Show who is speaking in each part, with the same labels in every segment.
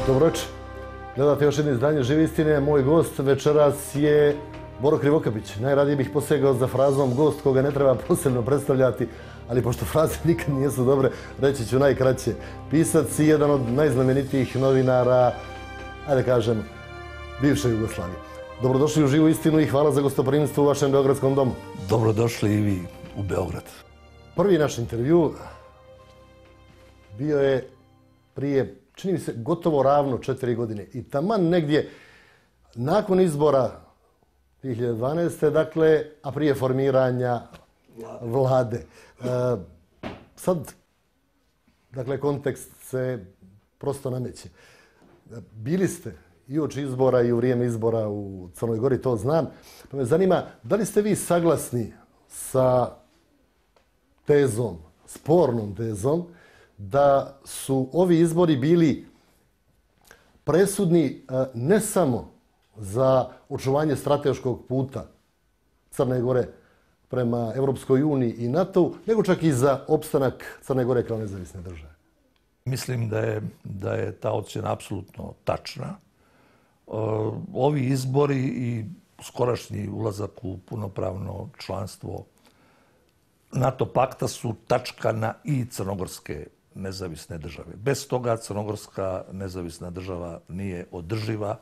Speaker 1: Dobro večer. Gledate još jedno izdanje Žive istine. Moj gost večeras je Boro Krivokapić. Najradije bih posegao za frazom gost koga ne treba posebno predstavljati, ali pošto fraze nikad nisu dobre, reći ću najkraće. Pisac i jedan od najznamenitijih novinara, ajde kažem, bivše Jugoslavije. Dobrodošli u Živu istinu i hvala za gostoprimstvo u vašem beogradskom domu.
Speaker 2: Dobrodošli i vi u Beograd.
Speaker 1: Prvi naš intervju bio je prije, čini mi se, gotovo ravno 4 godine. I taman negdje nakon izbora 2012. dakle, a prije formiranja vlade. Sad, dakle, kontekst se prosto nameće. Bili ste i uoči izbora i u vrijeme izbora u Crnoj Gori, to znam. Pa me zanima, da li ste vi saglasni sa tezom, spornom tezom, da su ovi izbori bili presudni ne samo za očuvanje strateškog puta Crne Gore prema Europskoj uniji i NATO-u, nego čak i za opstanak Crne Gore kao nezavisne države?
Speaker 2: Mislim da je ta ocjena apsolutno tačna. Ovi izbori i skorašnji ulazak u punopravno članstvo NATO pakta su tačka na i crnogorske nezavisne države. Bez toga crnogorska nezavisna država nije održiva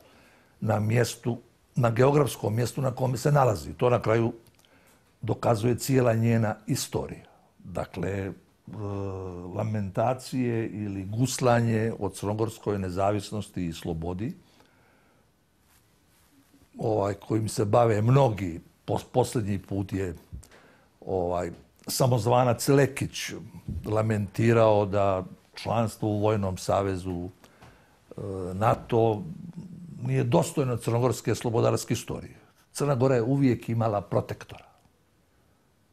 Speaker 2: na mjestu, na geografskom mjestu na kome se nalazi. To na kraju dokazuje cijela njena istorija. Dakle, lamentacije ili guslanje o crnogorskoj nezavisnosti i slobodi, kojim se bave mnogi, posljednji put je samozvanac Lekić lamentirao da članstvo u Vojnom savezu NATO nije dostojno crnogorske slobodarske istorije. Crna Gora je uvijek imala protektora.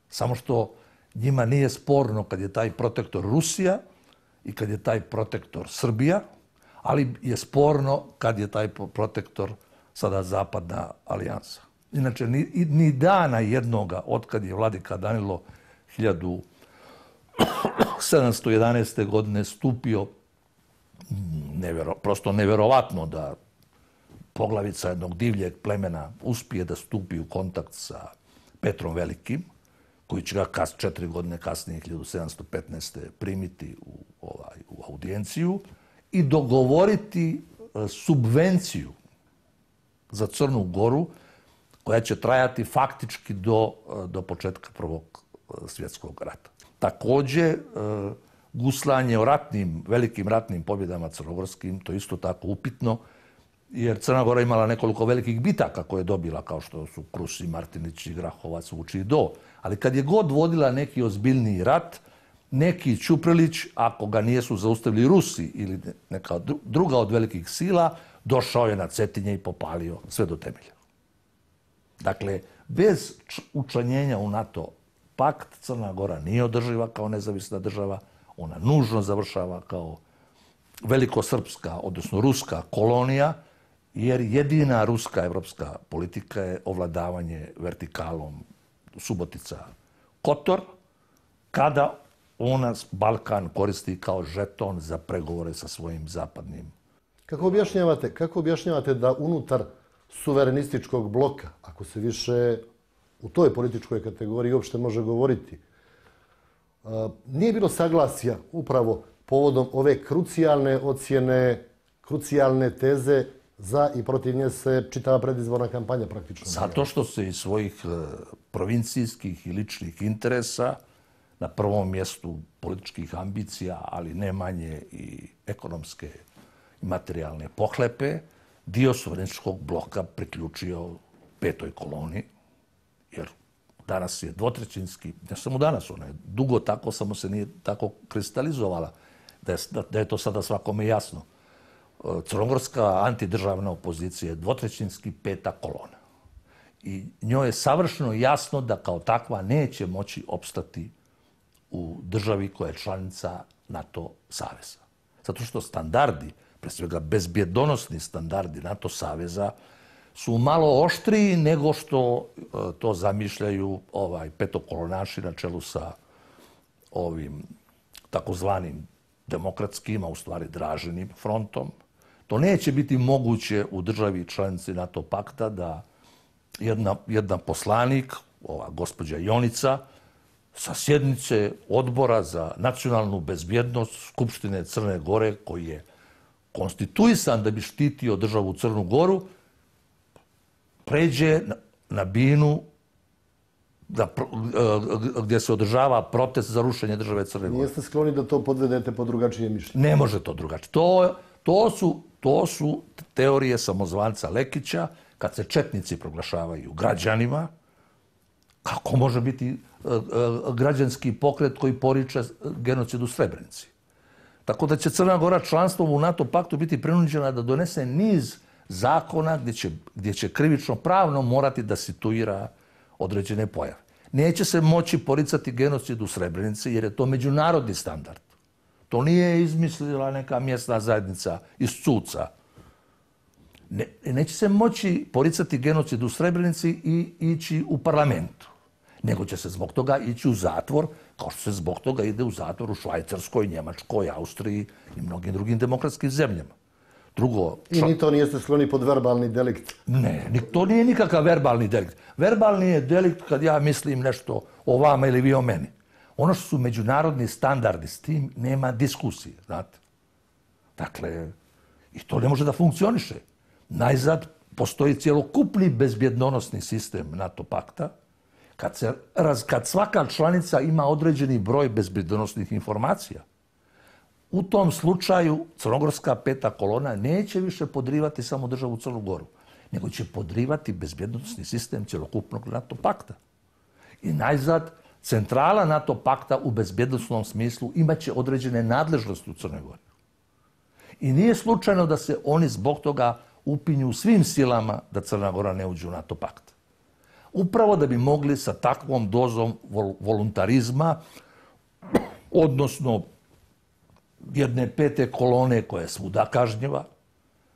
Speaker 2: Samo što njima nije sporno kad je taj protektor Rusija i kad je taj protektor Srbija, ali je sporno kad je taj protektor sada Zapadna alijansa. Inače, ni dana jednoga otkad je vladika Danilo 1711. godine stupio, prosto nevjerovatno da poglavica jednog divljeg plemena uspije da stupi u kontakt sa Petrom Velikim, koji će ga 4 godine kasnije, 1715. primiti u audijenciju i dogovoriti subvenciju za Crnu Goru koja će trajati faktički do početka Prvog svjetskog rata. Također, guslanje o velikim ratnim pobjedama crnogorskim, to je isto tako upitno, jer Crna Gora imala nekoliko velikih bitaka koje je dobila, kao što su Krusi, Martinić, Grahovac, Vuči i Do. Ali kad je god vodila neki ozbiljniji rat, neki Ćuprilić, ako ga nisu zaustavili Rusi ili neka druga od velikih sila, došao je na Cetinje i popalio sve do temelja. Dakle, bez učlanjenja u NATO pakt Crna Gora nije održiva kao nezavisna država, ona nužno završava kao velikosrpska, odnosno ruska kolonija, jer jedina ruska evropska politika je ovladavanje vertikalom Subotica-Kotor, kada ona Balkan koristi kao žeton za pregovore sa svojim zapadnim.
Speaker 1: Kako objašnjavate da unutar suverenističkog bloka, ako se više u toj političkoj kategoriji uopšte može govoriti, nije bilo saglasja upravo povodom ove krucijalne ocjene, krucijalne teze za i protiv nje se čitava predizborna kampanja praktično?
Speaker 2: Zato što se iz svojih provincijskih i ličnih interesa, na prvom mjestu političkih ambicija, ali ne manje i ekonomske i materijalne pohlepe, dio suverenističkog bloka priključio petoj koloni, jer danas je dvotrećinski, ne samo danas, ona je dugo tako, samo se nije tako kristalizovala, da je to sada svakome jasno. Crnogorska antidržavna opozicija je dvotrećinski peta kolona. I njoj je savršeno jasno da kao takva neće moći opstati u državi koja je članica NATO saveza. Zato što standardi, pre svega bezbjedonosni standardi NATO saveza, su malo oštriji nego što to zamišljaju petokolonaši na čelu sa ovim takozvanim demokratskim, a u stvari Dražinim frontom, To neće biti moguće u državi članici NATO pakta da jedna poslanik, ova gospođa Jonica, sa sjednice odbora za nacionalnu bezbjednost Skupštine Crne Gore, koji je konstituisan da bi štitio državu Crnu Goru, pređe na binu gdje se održava protest za rušenje države Crne Gore.
Speaker 1: Nijeste skloni da to podvedete po drugačije mišljenje?
Speaker 2: Ne može to drugačije. To su teorije samozvanca Lekića, kad se četnici proglašavaju građanima. Kako može biti građanski pokret koji poriče genocid u Srebrenici? Tako da će Crna Gora članstvom u NATO paktu biti prinuđena da donese niz zakona gdje će krivično pravno morati da situira određene pojave. Neće se moći poricati genocid u Srebrenici jer je to međunarodni standard. To nije izmislila neka mjesna zajednica iz Cuca. Neće se moći poricati genocid u Srebrenici i ići u parlamentu. Nego će se zbog toga ići u zatvor, kao što se zbog toga ide u zatvor u Švajcarskoj, Njemačkoj, Austriji i mnogim drugim demokratskim zemljama. Drugo...
Speaker 1: I ni to nijeste skloni pod verbalni delikt?
Speaker 2: Ne, to nije nikakav verbalni delikt. Verbalni je delikt kad ja mislim nešto o vama ili vi o meni. Ono što su međunarodni standardi, s tim nema diskusije, znate. Dakle, i to ne može da funkcioniše. Najzad postoji cjelokupni bezbjednosni sistem NATO pakta, kad svaka članica ima određeni broj bezbjednosnih informacija. U tom slučaju crnogorska peta kolona neće više podrivati samo državu Crnu Goru, nego će podrivati bezbjednosni sistem cjelokupnog NATO pakta. I najzad, centrala NATO pakta u bezbjednosnom smislu imaće određene nadležnosti u Crnoj Gori. I nije slučajno da se oni zbog toga upinju svim silama da Crna Gora ne uđe u NATO pakt. Upravo da bi mogli sa takvom dozom voluntarizma, odnosno jedne pete kolone koja je svuda kažnjiva,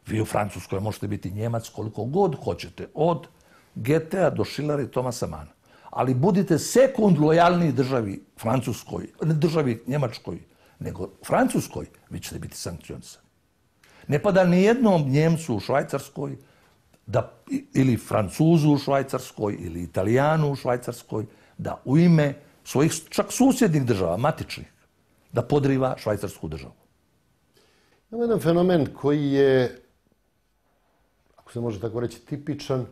Speaker 2: vi u Francuskoj možete biti Njemac koliko god hoćete, od Goethea do Schillera i Thomasa Manna. Ali budite sekund lojalniji državi Francuskoj, ne državi Njemačkoj, nego Francuskoj, vi ćete biti sankcionisani. Ne pada ni jednom Njemcu u Švajcarskoj, ili Francuzu u Švajcarskoj, ili Italijanu u Švajcarskoj, da u ime svojih čak susjednih država, matičnih, da podriva švajcarsku državu.
Speaker 1: Ima jedan fenomen koji je, ako se može tako reći, tipičan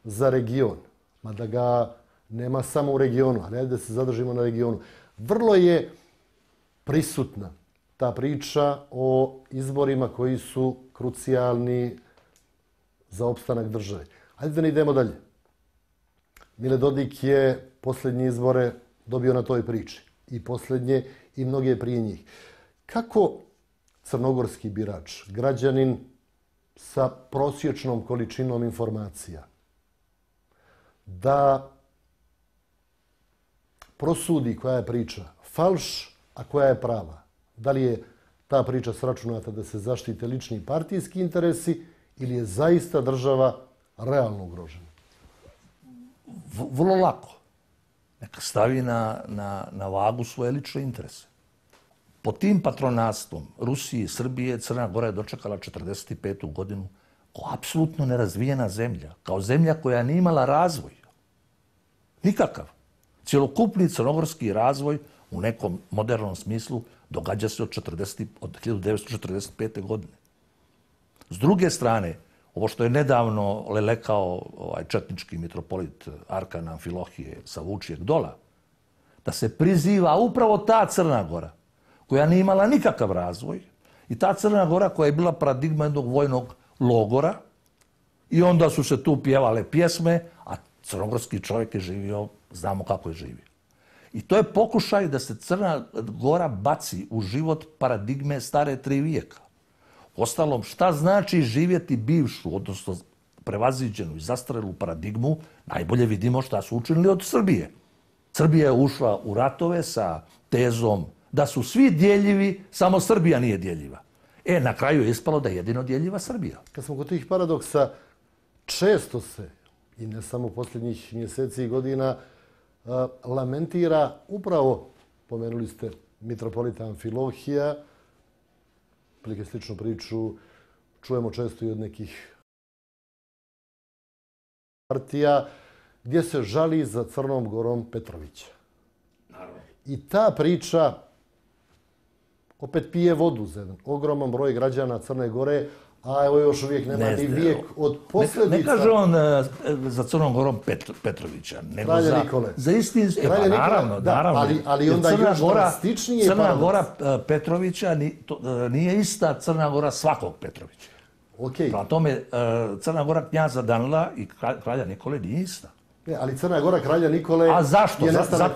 Speaker 1: za region, mada ga nema samo u regionu, ali da se zadržimo na regionu. Vrlo je prisutna ta priča o izborima koji su krucijalni za opstanak države. Hajde da ne idemo dalje. Mile Dodik je posljednje izbore dobio na toj priči. I posljednje i mnoge prije njih. Kako crnogorski birač, građanin sa prosječnom količinom informacija, da prosudi koja je priča falš, a koja je prava? Da li je ta priča sračunata da se zaštite lični partijski interesi ili je zaista država realno ugrožena?
Speaker 2: Vrlo lako. Neka stavi na vagu svoje lične interese. Pod tim patronastvom Rusije i Srbije Crna Gora je dočekala 1945. godinu kao apsolutno nerazvijena zemlja. Kao zemlja koja nije imala razvoj. Nikakav. Cjelokupni crnogorski razvoj u nekom modernom smislu događa se od 1945. godine. S druge strane, ovo što je nedavno lelekao četnički mitropolit Arkan Amfilohije sa Vučijeg dola, da se priziva upravo ta Crna Gora, koja nije imala nikakav razvoj, i ta Crna Gora koja je bila paradigma jednog vojnog logora, i onda su se tu pjevale pjesme, a crnogorski čovjek je živio, znamo kako je živio. I to je pokušaj da se Crna Gora baci u život paradigme stare 3 vijeka. Ostalom, šta znači živjeti bivšu, odnosno prevaziđenu i zastarelu paradigmu, najbolje vidimo šta su učinili od Srbije. Srbija je ušla u ratove sa tezom da su svi djeljivi, samo Srbija nije djeljiva. Na kraju je ispalo da je jedino djeljiva Srbija.
Speaker 1: Kad smo kod tih paradoksa, često se, i ne samo posljednjih mjeseci i godina, lamentira upravo, pomenuli ste mitropolita Amfilohija, prilike sličnu priču čujemo često i od nekih partija, gdje se žali za Crnom Gorom Petrovića. I ta priča opet pije vodu za jedan ogroman broj građana Crne Gore, a evo još uvijek nema ni vijek od posljedica.
Speaker 2: Ne kaže on za Crnom Gorom Petrovića, nego
Speaker 1: Kralja Nikole.
Speaker 2: Za istinski.
Speaker 1: Naravno. Ali onda još drastičnije
Speaker 2: Crna Gora Petrovića nije ista Crna Gora svakog Petrovića. Prema tome, Crna Gora knjaza Danila i kralja Nikole nije ista.
Speaker 1: Ali Crna Gora kralja Nikole...
Speaker 2: A zašto?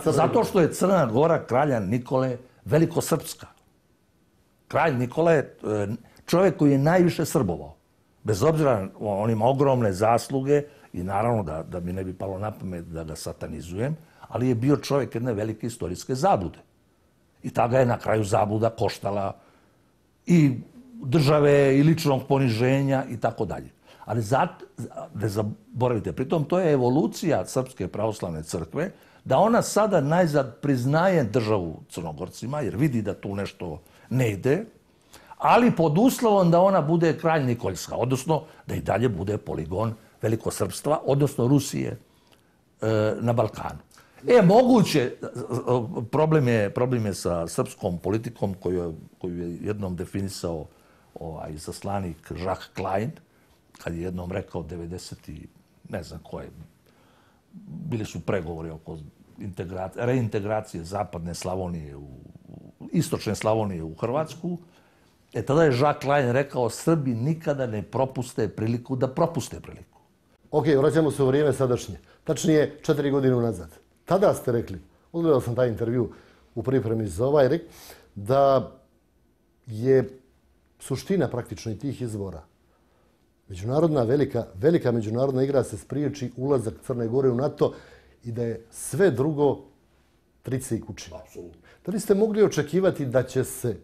Speaker 2: Zato što je Crna Gora kralja Nikole velikosrpska. Kralj Nikola je čovjek koji je najviše srbovao. Bez obzira, on ima ogromne zasluge i naravno da mi ne bi palo na pamet da ga satanizujem, ali je bio čovjek jedne velike istorijske zablude. I tada je na kraju zabluda koštala i države i ličnog poniženja i tako dalje. Ali ne zaboravite, pritom to je evolucija Srpske pravoslavne crkve, da ona sada najzad priznaje državu Crnogorcima, jer vidi da tu nešto ne ide, ali pod uslovom da ona bude kralj Nikoljska, odnosno da i dalje bude poligon velikosrpstva, odnosno Rusije na Balkanu. Moguće, problem je sa srpskom politikom koju je jednom definisao izaslanik Jacques Klein, kad je jednom rekao 90. ne znam koje, bili su pregovori oko reintegracije zapadne Slavonije, istočne Slavonije u Hrvatsku. Tada je Jacques Klein rekao, Srbi nikada ne propuste priliku da propuste priliku.
Speaker 1: Ok, vraćamo se u vrijeme sadašnje. Tačnije 4 godine unazad. Tada ste rekli, odgledao sam taj intervju u pripremi za ovaj, da je suština praktično i tih izbora. Međunarodna, velika međunarodna igra se spriječi ulazak Crne Gore u NATO i da je sve drugo trice i kućine. Da li ste mogli očekivati da će se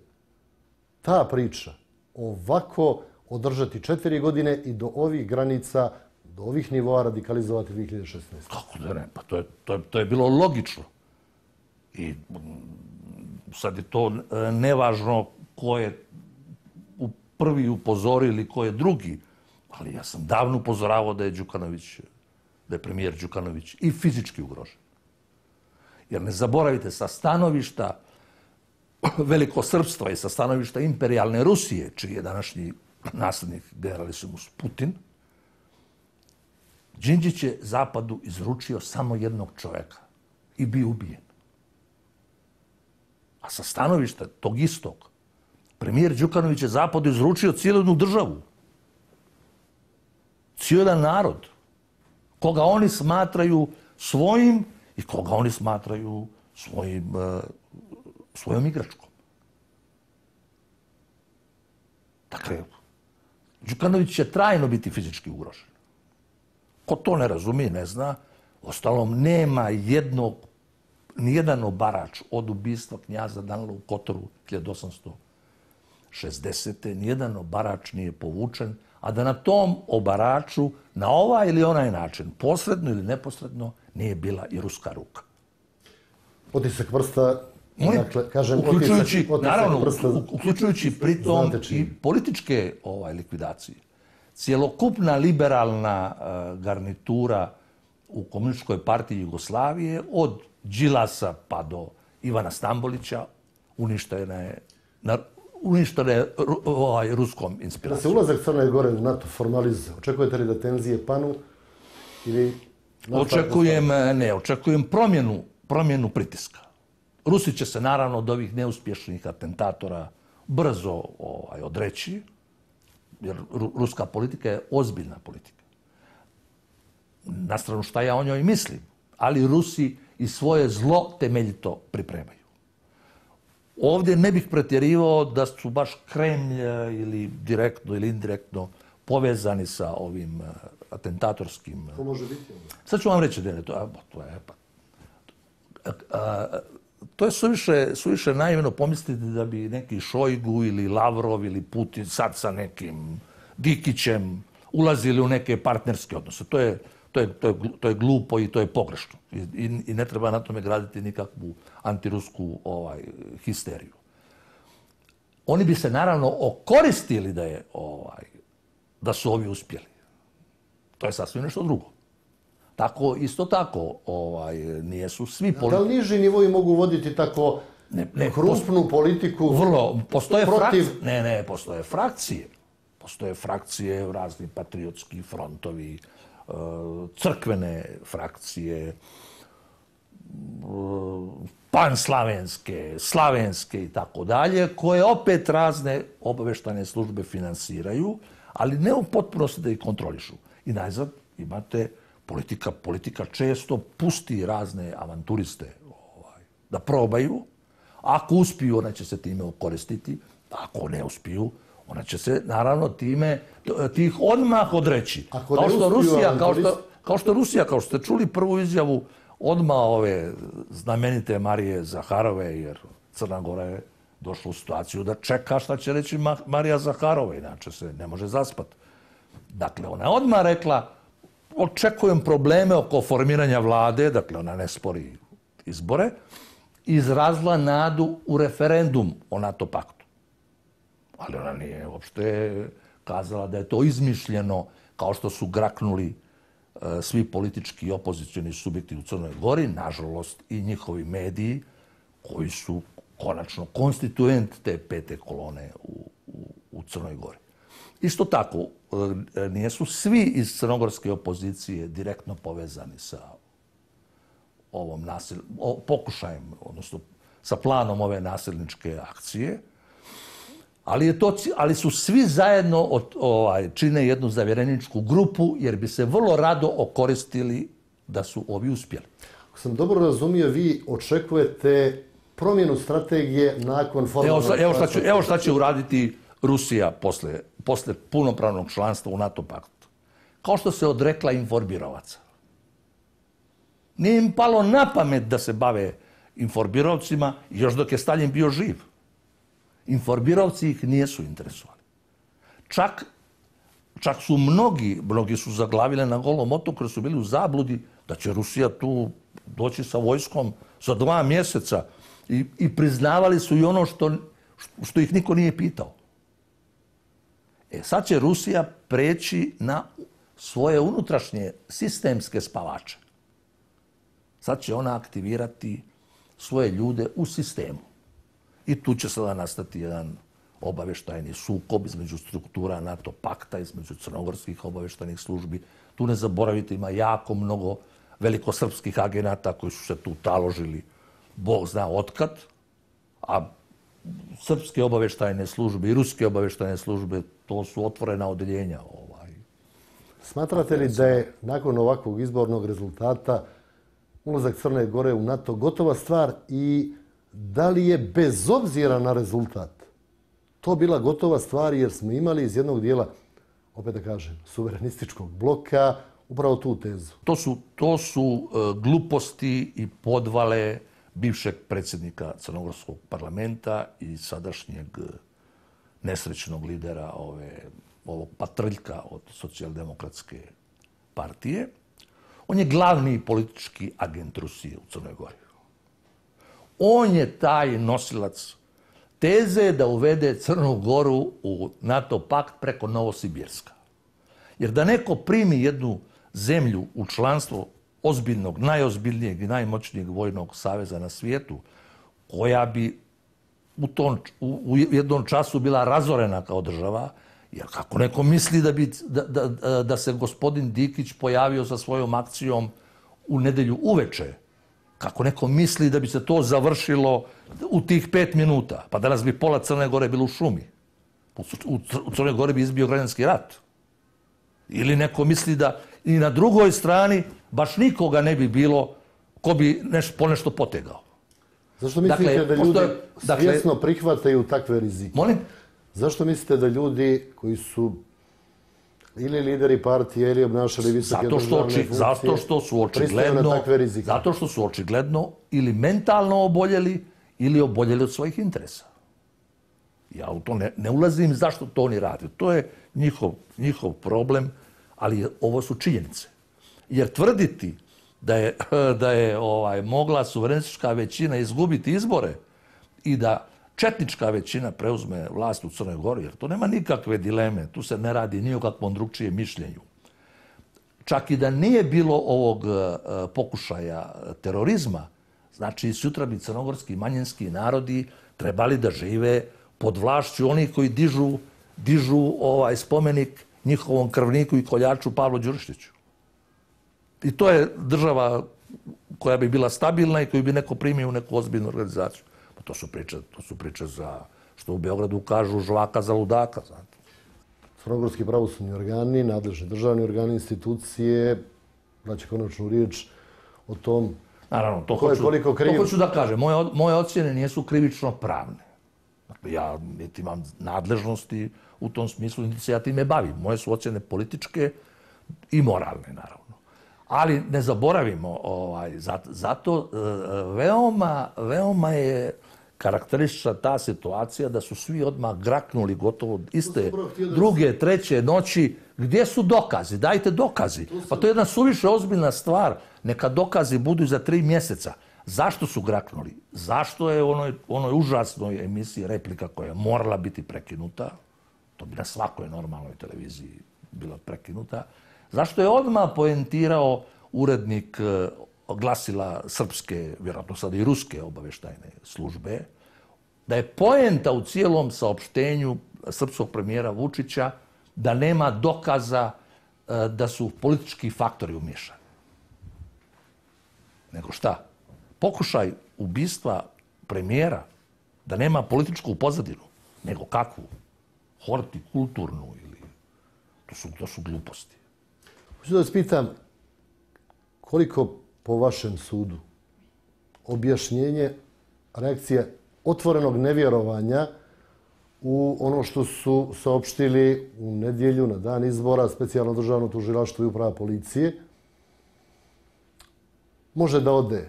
Speaker 1: ta priča ovako održati 4 godine i do ovih granica, do ovih nivoa radikalizovati 2016?
Speaker 2: Kako da ne? Pa to je bilo logično. I sad je to nevažno ko je prvi upozorio ili ko je drugi. Ali ja sam davno upozoravao da je premijer Đukanović i fizički ugrožen. Jer ne zaboravite, sa stanovišta velikosrpstva i sa stanovišta imperijalne Rusije, čiji je današnji naslednik generalisimus Putin, Đinđić je Zapadu izručio samo jednog čoveka i bio ubijen. A sa stanovišta tog istog, premijer Đukanović je Zapadu izručio cijelu jednu državu. Cijeli jedan narod, koga oni smatraju svojim i koga oni smatraju svojom igračkom. Dakle, Đukanović će trajno biti fizički ugrožen. Ko to ne razumije, ne zna, ostalom nema nijedan obarač od ubistva knjaza Danila u Kotoru 1860. Nijedan obarač nije povučen, a da na tom obaraču, na ovaj ili onaj način, posredno ili neposredno, nije bila i ruska ruka.
Speaker 1: Otisak prsta, dakle, kažem,
Speaker 2: uključujući pritom i političke likvidacije. Cijelokupna liberalna garnitura u Komunističkoj partiji Jugoslavije, od Đilasa pa do Ivana Stambolića, uništena je ruskom inspiracijom.
Speaker 1: Da se ulazak Crne Gore u NATO formalizuje, očekujete li da tenzije panu ili...
Speaker 2: Očekujem promjenu pritiska. Rusi će se naravno od ovih neuspješnih atentatora brzo odreći, jer ruska politika je ozbiljna politika. Na stranu šta ja o njoj mislim, ali Rusi i svoje zlo temeljito pripremaju. Ovdje ne bih pretjerivao da su baš Kremlj ili direktno ili indirektno povezani sa ovim atentatorskim...
Speaker 1: To može biti.
Speaker 2: Sad ću vam reći, to je suviše naivno pomisliti da bi neki Šojgu ili Lavrov ili Putin sad sa nekim Dikićem ulazili u neke partnerske odnose. To je glupo i to je pogrešno. I ne treba na tome graditi nikakvu antirusku histeriju. Oni bi se naravno okoristili da je da su ovi uspjeli. To je sasvim nešto drugo. Tako, isto tako, nijesu svi
Speaker 1: Da li niži nivoji mogu voditi tako krupnu politiku
Speaker 2: postoje
Speaker 1: protiv...
Speaker 2: postoje frakcije. Postoje frakcije, razni patriotski frontovi, crkvene frakcije, panslavenske, slavenske i tako dalje, koje opet razne obavještajne službe finansiraju, ali ne u potpunosti da ih kontrolišu. I najzad imate politika često pusti razne avanturiste da probaju. Ako uspiju, ona će se time okoristiti. Ako ne uspiju, ona će se, naravno, tih odmah odreći. Kao što Rusija, kao što ste čuli prvu izjavu odmah ove znamenite Marije Zaharove, jer Crna Gora je došla u situaciju da čeka šta će reći Marija Zaharova, inače se ne može zaspati. Dakle, ona je odmah rekla, očekujem probleme oko formiranja vlade, dakle, ona ne spori izbore, izrazila nadu u referendum o NATO paktu. Ali ona nije uopšte kazala da je to izmišljeno, kao što su graknuli svi politički i opozicioni subjekti u Crnoj Gori, nažalost i njihovi mediji, koji su konačno konstituent te pete kolone u Crnoj Gori. Isto tako, nijesu svi iz crnogorske opozicije direktno povezani sa ovom pokušajem, odnosno sa planom ove nasilničke akcije, ali su svi zajedno čine jednu zavjereničku grupu, jer bi se vrlo rado okoristili da su ovi uspjeli.
Speaker 1: Ako sam dobro razumio, vi očekujete promjenu strategije nakon formalnog...
Speaker 2: Evo šta će uraditi Rusija posle punopravnog članstva u NATO paktu. Kao što se odrekla informirovaca. Nije im palo na pamet da se bave informirovcima još dok je Stalin bio živ. Informirovci ih nijesu interesovali. Čak su mnogi su zaglavile na Golom otoku jer su bili u zabludi da će Rusija tu doći sa vojskom za 2 mjeseca i priznavali su i ono što ih niko nije pitao. Sad će Rusija preći na svoje unutrašnje sistemske spavače. Sad će ona aktivirati svoje ljude u sistemu. I tu će sada nastati jedan obavještajni sukob između struktura NATO pakta, između crnogorskih obavještajnih službi. Tu ne zaboravite, ima jako mnogo velikosrpskih agenata koji su se tu taložili, Bog zna otkad, a srpske obavještajne službe i ruske obavještajne službe, to su otvorena odeljenja.
Speaker 1: Smatrate li da je nakon ovakvog izbornog rezultata ulazak Crne Gore u NATO gotova stvar i da li je bez obzira na rezultat to bila gotova stvar jer smo imali iz jednog dijela, opet da kažem, suverenističkog bloka upravo tu tezu?
Speaker 2: To su gluposti i podvale bivšeg predsjednika Crnogorskog parlamenta i sadašnjeg nesrećnog lidera ovog patrljka od socijaldemokratske partije. On je glavni politički agent Rusije u Crnoj Gori. On je taj nosilac teze da uvede Crnu Goru u NATO pakt preko Novosibirska. Jer da neko primi jednu zemlju u članstvo ozbiljnog, najozbiljnijeg i najmoćnijeg vojnog saveza na svijetu, koja bi u jednom času bila razorena kao država, jer kako neko misli da se gospodin Dikić pojavio sa svojom akcijom u nedjelju uveče, kako neko misli da bi se to završilo u tih 5 minuta, pa danas bi pola Crne Gore bilo u šumi. U Crnoj Gori bi izbio građanski rat. Ili neko misli da i na drugoj strani baš nikoga ne bi bilo ko bi ponešto potegao.
Speaker 1: Zašto mislite da ljudi svjesno prihvataju takve rizike?
Speaker 2: Molim?
Speaker 1: Zašto mislite da ljudi koji su ili lideri partije ili obnašali visoke državne funkcije pristaju na takve rizike?
Speaker 2: Zato što su očigledno ili mentalno oboljeli ili oboljeli od svojih interesa. Ja u to ne ulazim zašto to oni rade. To je njihov problem, ali ovo su činjenice. Jer tvrditi da je mogla suverenistička većina izgubiti izbore i da četnička većina preuzme vlast u Crnoj Gori, jer to nema nikakve dileme, tu se ne radi ni o kakvom drugčijem mišljenju. Čak i da nije bilo ovog pokušaja terorizma, znači sutra bi crnogorski manjinski narodi trebali da žive pod vlašću onih koji dižu spomenik njihovom krvniku i koljaču Pavlu Đurišiću. I to je država koja bi bila stabilna i koju bi neko primio u neku ozbiljnu organizaciju. Pa to su priče za, što u Beogradu kažu, žvaka za ludaka. Znate.
Speaker 1: Crnogorski pravosudni organi, nadležni državni organi, institucije, daće konačnu riječ o tom.
Speaker 2: Naravno, to hoću da kažem. Moje ocjene nisu krivično pravne. Dakle, ja niti imam nadležnosti u tom smislu, niti se ja time bavim. Moje su ocjene političke i moralne, naravno. Ali ne zaboravimo, zato veoma je karakteristična ta situacija da su svi odmah graknuli gotovo iste druge, treće noći. Gdje su dokazi? Dajte dokazi. Pa to je jedna suviše ozbiljna stvar. Neka dokazi budu za 3 mjeseca. Zašto su graknuli? Zašto je u onoj užasnoj emisiji Replika koja je morala biti prekinuta? To bi na svakoj normalnoj televiziji bila prekinuta. Zašto je odmah poentirao urednik glasila srpske, vjerojatno sada i ruske obavještajne službe, da je poenta u cijelom saopštenju srpskog premijera Vučića da nema dokaza da su politički faktori umiješani. Nego šta? Pokušaj ubistva premijera da nema političku pozadinu, nego kakvu? Hortikulturnu ili... To su gluposti.
Speaker 1: Hoću da vas pitam, koliko po vašem sudu objašnjenje, reakcija otvorenog nevjerovanja u ono što su saopštili u nedjelju na dan izbora specijalno državno tužilaštvo i uprava policije, može da ode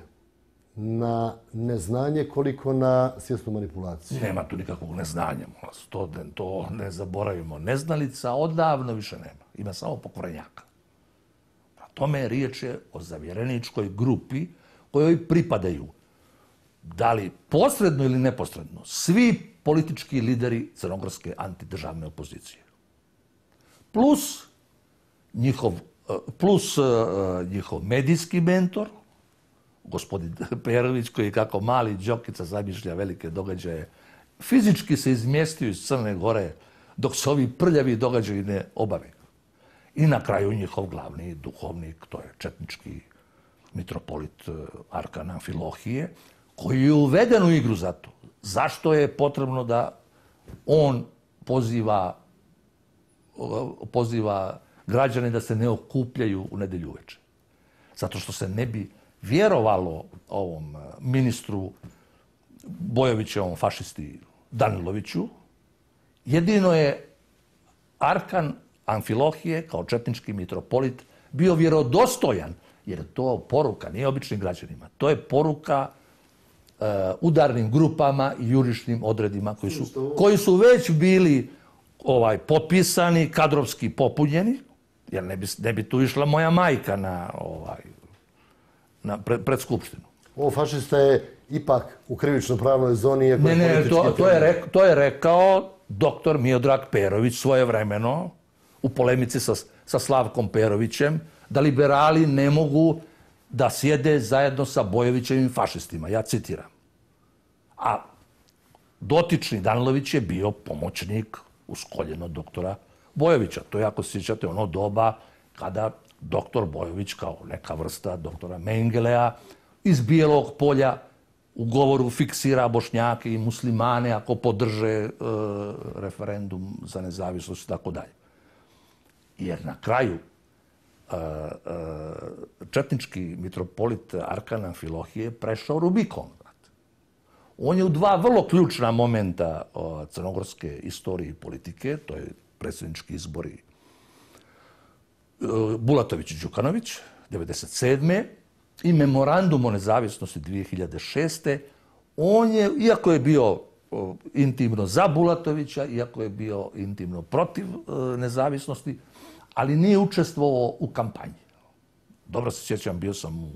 Speaker 1: na neznanje koliko na svjesnu manipulaciju?
Speaker 2: Nema tu nikakvog neznanja. To ne zaboravimo. Neznalica odavno više nema. Ima samo pokvarenjaka. Tome riječ je o zavjereničkoj grupi kojoj pripadaju, da li posredno ili neposredno, svi politički lideri crnogorske antidržavne opozicije. Plus njihov medijski mentor, gospodin Perović, koji kako mali Đokica zamišlja velike događaje, fizički se izmjestio iz Crne Gore dok se ovi prljavi događaji ne obave. I na kraju njihov glavni duhovnik, to je četnički mitropolit Arkan Amfilohije, koji je uveden u igru za to. Zašto je potrebno da on poziva građane da se ne okupljaju u nedjelju uveče? Zato što se ne bi vjerovalo ovom ministru Bojovićevom fašisti Daniloviću. Jedino je Arkan Amfilohije, kao četnički mitropolit, bio vjerodostojan, jer je to poruka, nije običnim građanima. To je poruka udarnim grupama i jurišnim odredima koji su već bili potpisani, kadrovski popunjeni, jer ne bi tu išla moja majka pred skupštinu.
Speaker 1: Ovo fašista je ipak u krivično-pravnoj zoni.
Speaker 2: Ne, to je rekao doktor Miodrag Perović svojevremeno u polemici sa Slavkom Perovićem, da liberali ne mogu da sjede zajedno sa Bojovićevim fašistima. Ja citiram. A dotični Danilović je bio pomoćnik uz koljeno doktora Bojovića. To je, ako se sjećate, ono doba kada doktor Bojović, kao neka vrsta doktora Mengelea, iz Bijelog polja u govoru fiksira Bošnjake i muslimane ako podrže referendum za nezavisnost i tako dalje. Jer na kraju četnički mitropolit Arkan Amfilohije prešao Rubikon. On je u 2 vrlo ključna momenta crnogorske istorije i politike, to je predsjednički izbori Bulatović i Đukanović, 1997. i memorandum o nezavisnosti 2006. On je, iako je bio intimno za Bulatovića, iako je bio intimno protiv nezavisnosti, ali nije učestvovao u kampanji. Dobro se sjećam, bio sam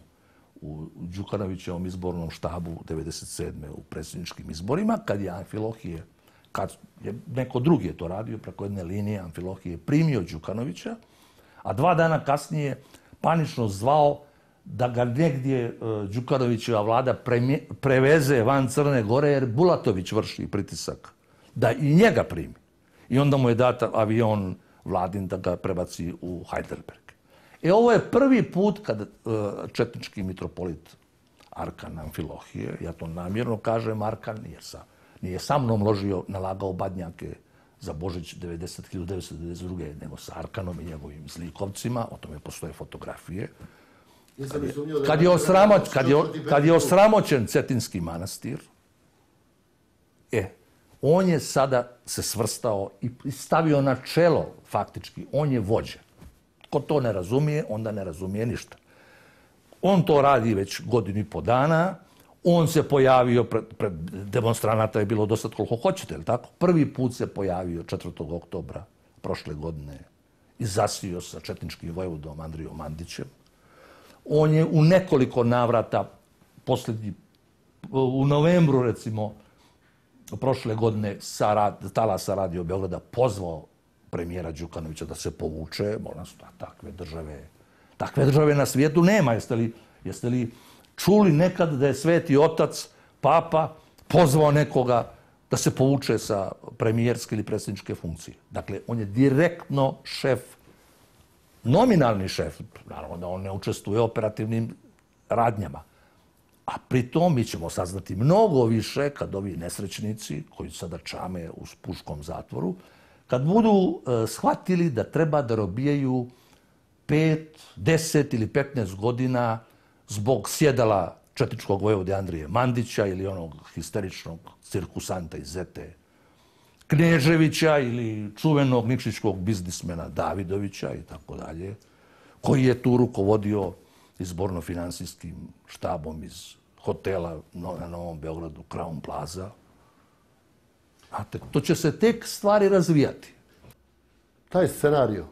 Speaker 2: u Đukanovićevom izbornom štabu 1997. u predsjedničkim izborima, kad je Amfilohije, kad je neko drugi je to radio preko jedne linije, Amfilohije primio Đukanovića, a 2 dana kasnije panično zvao da ga negdje Đukanovićeva vlada preveze van Crne Gore, jer Bulatović vrši pritisak da i njega primi. I onda mu je dat avion vladin da ga prebaci u Heidelberg. Ovo je prvi put kad četnički mitropolit Arkan Amfilohije, ja to namjerno kažem Arkan, nije sa mnom nalagao badnjake za Božić 1992. nego sa Arkanom i njegovim zlikovcima, o tome postoje fotografije. Kad je osramoćen Cetinski manastir, on je sada se svrstao i stavio na čelo, faktički, on je vođa. Ko to ne razumije, onda ne razumije ništa. On to radi već 1,5 godinu dana, on se pojavio, pred demonstranata je bilo dosta koliko hoćete, je li tako? Prvi put se pojavio 4. oktobra prošle godine i zasio sa četničkim vojvodom Andrijom Mandićem. On je u nekoliko navrata, u novembru recimo, prošle godine talasa Radio Beograda pozvao premijera Đukanovića da se povuče. Moram se, takve države na svijetu nema. Jeste li čuli nekad da je Sveti Otac, Papa, pozvao nekoga da se povuče sa premijerske ili predsjedničke funkcije? Dakle, on je direktno šef, nominalni šef, naravno da on ne učestvuje u operativnim radnjama. A pritom mi ćemo saznati mnogo više kad ovi nesrećnici, koji sada čame u puškom zatvoru, kad budu shvatili da treba da robijaju 5, 10 ili 15 godina zbog sjedala četničkog vojvode Andrije Mandića ili onog histeričnog cirkusanta iz Zete Kneževića ili čuvenog nikšićkog biznismena Davidovića i tako dalje, koji je tu rukovodio izborno-finansijskim štabom iz hotela na Novom Beogradu, Crown Plaza. To će se tek stvari razvijati.
Speaker 1: Taj scenario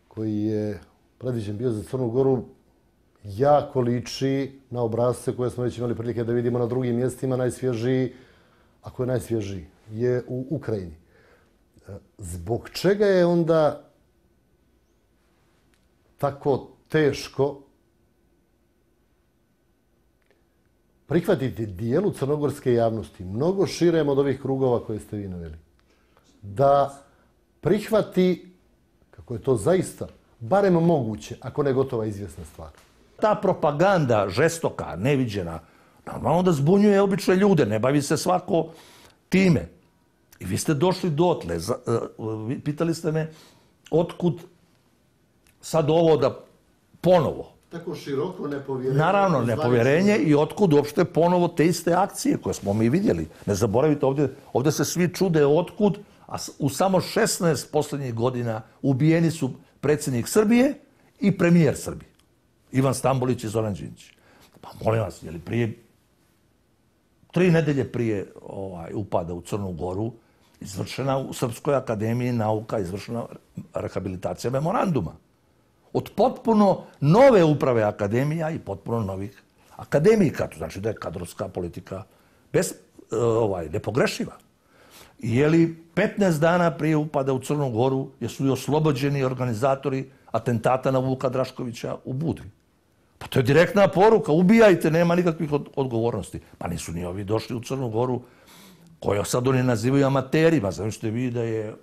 Speaker 1: koji je predviđen bio za Crnu Goru jako liči na obrasce koje smo već imali prilike da vidimo na drugim mjestima. Najsvježiji, ako je najsvježiji, je u Ukrajini. Zbog čega je onda tako teško prihvatiti dijelu crnogorske javnosti, mnogo širem od ovih krugova koje ste vi naveli, da prihvati, kako je to zaista, barem moguće, ako ne gotova izvjesna stvar?
Speaker 2: Ta propaganda žestoka, neviđena, normalno da zbunjuje obične ljude, ne bavi se svako time. I vi ste došli dotle, pitali ste me otkud sad ovo da ponovo.
Speaker 1: Tako široko nepovjerenje.
Speaker 2: Naravno, nepovjerenje i otkud uopšte ponovo te iste akcije koje smo mi vidjeli. Ne zaboravite, ovdje se svi čude otkud, a u samo 16 posljednjih godina ubijeni su predsjednik Srbije i premijer Srbije. Ivan Stambolić i Zoran Đinđić. Pa molim vas, je li prije 3 nedelje prije upada u Crnu Goru izvršena u Srpskoj akademiji nauka, izvršena rehabilitacija memoranduma. Od potpuno nove uprave akademija i potpuno novih akademika. To znači da je kadrovska politika nepogrešiva. Je li 15 dana prije upada u Crnu Goru jesu i oslobođeni organizatori atentata na Vuka Draškovića u Budvi? Pa to je direktna poruka, ubijajte, nema nikakvih odgovornosti. Pa nisu ni ovi došli u Crnu Goru, koje sad oni nazivaju amaterima. Znači vi da je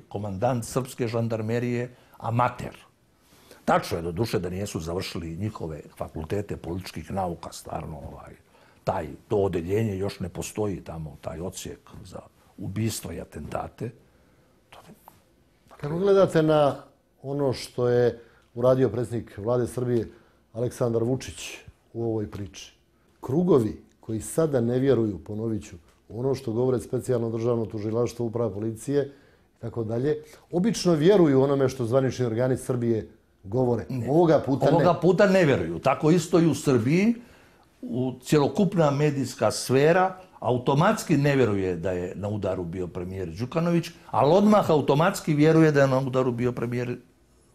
Speaker 2: komandant srpske žandarmerije amater. Tačno je do duše da nijesu završili njihove fakultete političkih nauka, stvarno to odeljenje još ne postoji tamo, taj odsjek za ubistva i atentate.
Speaker 1: Kako gledate na ono što je uradio predsjednik Vlade Srbije Aleksandar Vučić u ovoj priči? Krugovi koji sada ne vjeruju, ponovit ću, ono što govore specijalno državno tužilaštvo, uprava policije i tako dalje, obično vjeruju onome što zvanični organi Srbije govore. Ovoga
Speaker 2: puta ne vjeruju. Tako isto i u Srbiji, u cjelokupna medijska sfera automatski ne vjeruje da je na udaru bio premijer Đukanović, ali odmah automatski vjeruje da je na udaru bio premijer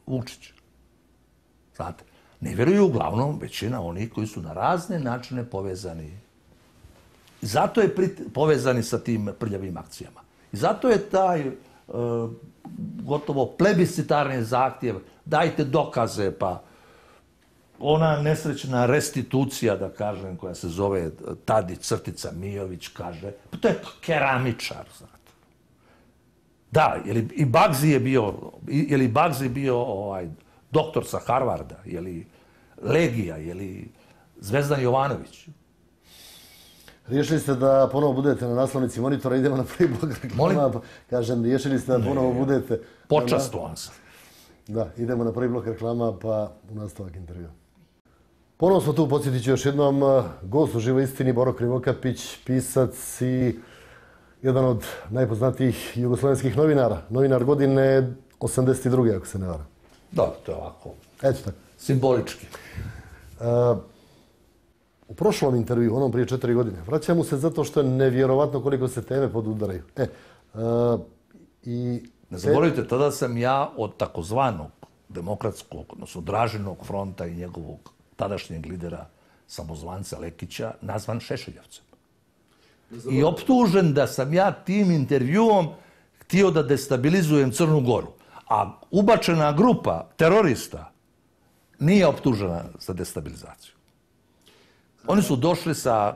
Speaker 2: Vučić. Znate? Ne vjeruju uglavnom većina onih koji su na razne načine povezani. I zato je povezani sa tim prljavim akcijama. I zato je taj gotovo plebiscitarni zahtjev, dajte dokaze, pa ona nesrećna restitucija, da kažem, koja se zove Tadić crtica Mijović, kaže, pa to je keramičar, znate. Da, je li i Bagzi bio doktor sa Harvarda, je li Legija, je li Zvezdan Jovanović?
Speaker 1: Riješili ste da ponovo budete na naslovnici Monitora, idemo na prvi blok reklama. Kažem, riješili ste da ponovo budete...
Speaker 2: Počastvovan sam.
Speaker 1: Da, idemo na prvi blok reklama, pa u nastavak intervjua. Ponovo smo tu, podsjetit ću još jednom, gost u živoj istini, Boro Krivokapić, pisac i jedan od najpoznatijih jugoslovenskih novinara. Novinar godine 82. ako se ne varam.
Speaker 2: Da, to je ovako.
Speaker 1: Eto tako.
Speaker 2: Simbolički.
Speaker 1: U prošlom intervju, onom prije 4 godine, vraćam mu se zato što je nevjerovatno koliko se teme podudaraju.
Speaker 2: Ne zaboravite, tada sam ja od takozvanog demokratskog, odnosno Dražinog fronta i njegovog tadašnjeg lidera, samozvanca Lekića, nazvan Šešeljevcem. I optužen da sam ja tim intervjuom htio da destabilizujem Crnu Goru. A ubačena grupa terorista nije optužena za destabilizaciju. Oni su došli sa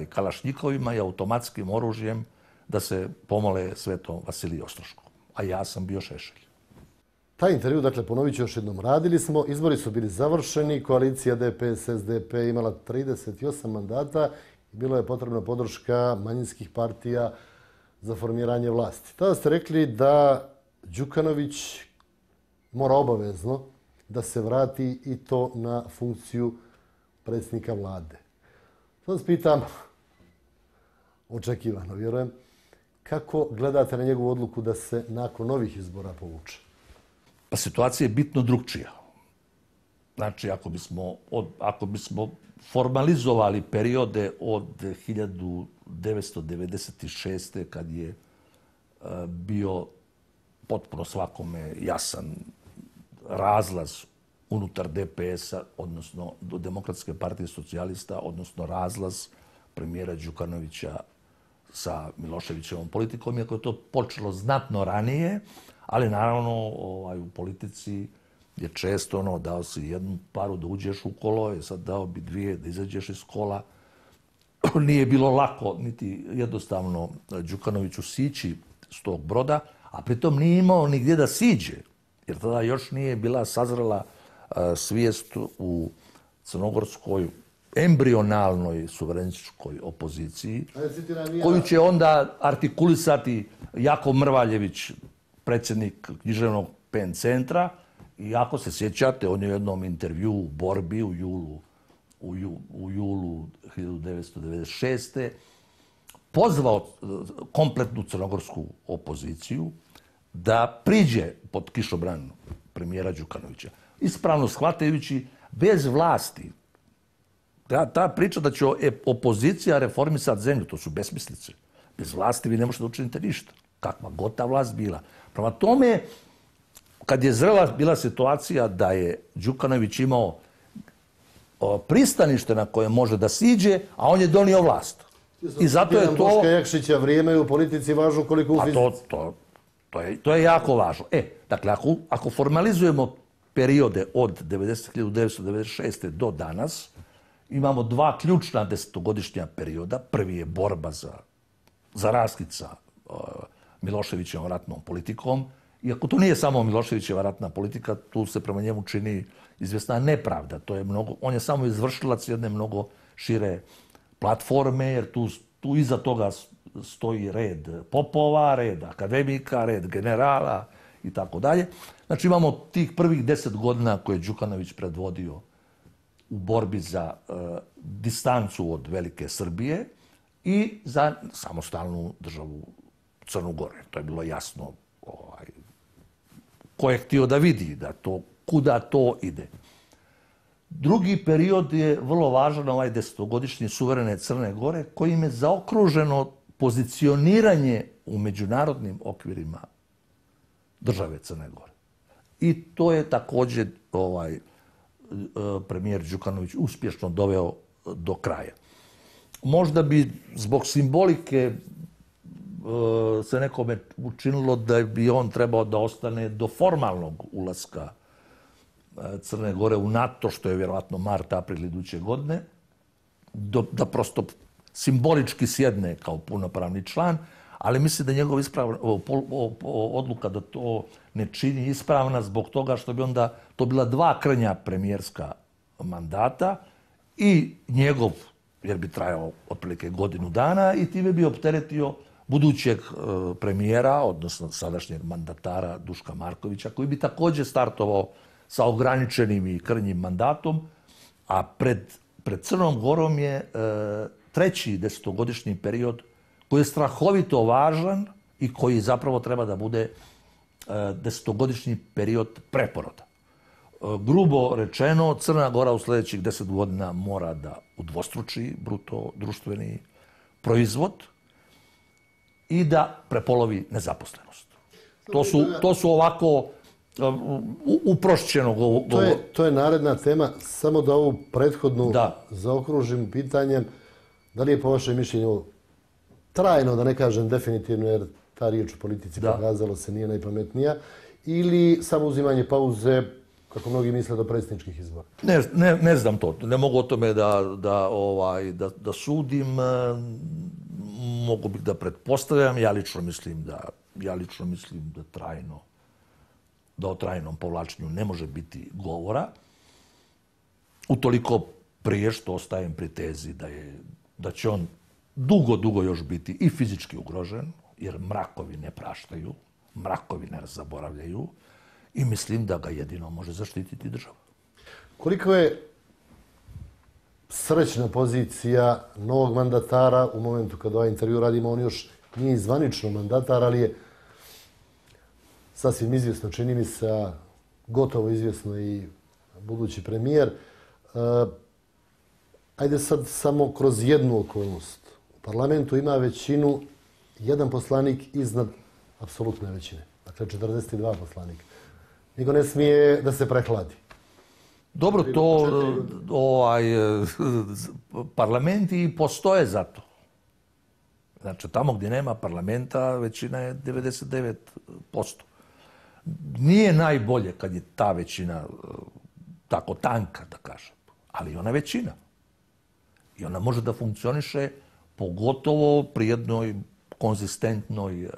Speaker 2: kalašnjikovima i automatskim oružjem da se pomole svetom Vasiliju Ostroškom. A ja sam bio Šešelj.
Speaker 1: Taj intervju, dakle, ponovit ću još jednom, radili smo, izbori su bili završeni, koalicija DPS-SDP imala 38 mandata i bilo je potrebna podrška manjinskih partija za formiranje vlasti. Tada ste rekli da Đukanović mora obavezno da se vrati i to na funkciju predsjednika vlade. Sad vas pitam, očekivano vjerujem, kako gledate na njegovu odluku da se nakon novih izbora povuče?
Speaker 2: Pa situacija je bitno drugčija. Znači, ako bismo formalizovali periode od 1996. kad je bio potpuno svakome jasan razlaz unutar DPS-a, odnosno Demokratske partije socijalista, odnosno razlaz premijera Đukanovića sa Miloševićevom politikom, iako je to počelo znatno ranije, ali naravno u politici je često dao si jednu paru da uđeš u kolo, je sad dao bi dvije da izađeš iz kola. Nije bilo lako, niti jednostavno Đukanoviću sići s tog broda, a pritom nije imao nigdje da siđe, jer tada još nije bila sazrela svijest u crnogorskoj embrionalnoj suverenističkoj opoziciji, koju će onda artikulisati Jakov Mrvaljević, predsjednik književnog PEN centra. I ako se sjećate, on je u jednom intervju u Borbi u julu 1996. pozvao kompletnu crnogorsku opoziciju da priđe pod kišobran premijera Đukanovića. Ispravno shvatajući, bez vlasti, ta priča da će opozicija reformisati zemlju, to su besmislice. Bez vlasti vi ne možete da učinite ništa. Kakva god ta vlast bila. Prema tome, kad je zrela bila situacija da je Đukanović imao pristanište na koje može da siđe, a on je donio vlast. I zato je to...
Speaker 1: Boška Jakšića vrijeme u politici važno koliko u fizici.
Speaker 2: To je jako važno. Dakle, ako formalizujemo periode od 1996. do danas, imamo dva ključna desetogodišnja perioda. Prvi je borba za raskid sa Miloševićevom ratnom politikom. Iako to nije samo Miloševićeva ratna politika, tu se prema njemu čini izvjesna nepravda. On je samo izvršilac jedne mnogo šire platforme, jer tu iza toga stoji red popova, red akademika, red generala i tako dalje. Znači imamo tih prvih 10 godina koje je Đukanović predvodio u borbi za distancu od velike Srbije i za samostalnu državu Crnu Goru. To je bilo jasno ko je htio da vidi kuda to ide. Drugi period je vrlo važan, ovaj desetogodišnji suverene Crne Gore, kojim je zaokruženo pozicioniranje u međunarodnim okvirima države Crne Gore. I to je također premijer Đukanović uspješno doveo do kraja. Možda bi zbog simbolike se nekome učinilo da bi on trebao da ostane do formalnog ulaska Crne Gore u NATO, što je vjerovatno mart, april iduće godine, da prosto simbolički sjedne kao punopravni član, ali mislim da njegova odluka da to ne čini ispravna zbog toga što bi onda to bila dva krnja premijerska mandata i njegov, jer bi trajao otprilike godinu dana i time bi opteretio budućeg premijera, odnosno sadašnjeg mandatara Duška Markovića, koji bi također startovao sa ograničenim i krnjim mandatom, a pred Crnom Gorom je treći desetogodišnji period koji je strahovito važan i koji zapravo treba da bude desetogodišnji period preporoda. Grubo rečeno, Crna Gora u sljedećih 10 godina mora da udvostruči bruto društveni proizvod i da prepolovi nezaposlenost. To su ovako uprošćeno
Speaker 1: To je naredna tema. Samo da ovu prethodnu zaokružim pitanjem, da li je po vašem mišljenju trajno, da ne kažem definitivno, jer ta riječ u politici pokazalo se nije najpametnija, ili samo uzimanje pauze, kako mnogi misle, do predsjedničkih izbora?
Speaker 2: Ne znam to. Ne mogu o tome da sudim. Mogu bih da pretpostavljam. Ja lično mislim da o trajnom povlačenju ne može biti govora. Utoliko prije što ostajem pri tezi da će on dugo još biti i fizički ugrožen, jer mrakovi ne praštaju, mrakovi ne zaboravljaju i mislim da ga jedino može zaštititi država.
Speaker 1: Koliko je srećna pozicija novog mandatara u momentu kada ovaj intervju radimo, on još nije zvanično mandatar, ali je sasvim izvjesno, čini mi se, gotovo izvjesno i budući premijer. Ajde sad samo kroz jednu okolnost. U parlamentu ima većinu, jedan poslanik iznad apsolutne većine. Dakle, 42 poslanika. Niko ne smije da se prehladi.
Speaker 2: Dobro, parlamenti i postoje za to. Znači, tamo gdje nema parlamenta, većina je 99%. Nije najbolje kad je ta većina tako tanka, da kažem, ali ona je većina. I ona može da funkcioniše pogotovo pri jednoj konzistentnoj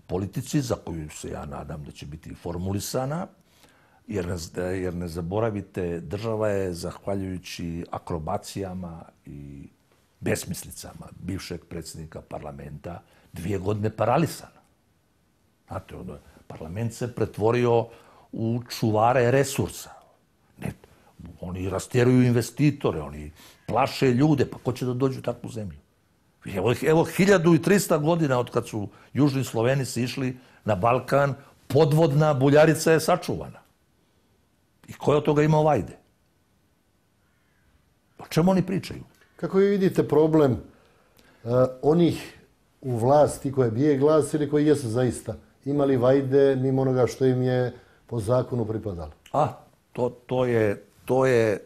Speaker 2: politici za koju se ja nadam da će biti formulisana, jer ne zaboravite, država je, zahvaljujući akrobacijama i besmislicama bivšeg predsjednika parlamenta, 2 godine paralisana. Znate, parlament se pretvorio u čuvare resursa. Oni rastjeruju investitore, oni plaše ljude, pa ko će da dođu u takvu zemlju? Evo 1300 godina od kad su južni Slovenici išli na Balkan, podvodna Buljarica je sačuvana. I ko je od toga imao vajde? O čemu oni pričaju?
Speaker 1: Kako vi vidite problem onih u vlasti koje bije glas ili koji jesu zaista imali vajde mimo onoga što im je po zakonu pripadalo?
Speaker 2: To je...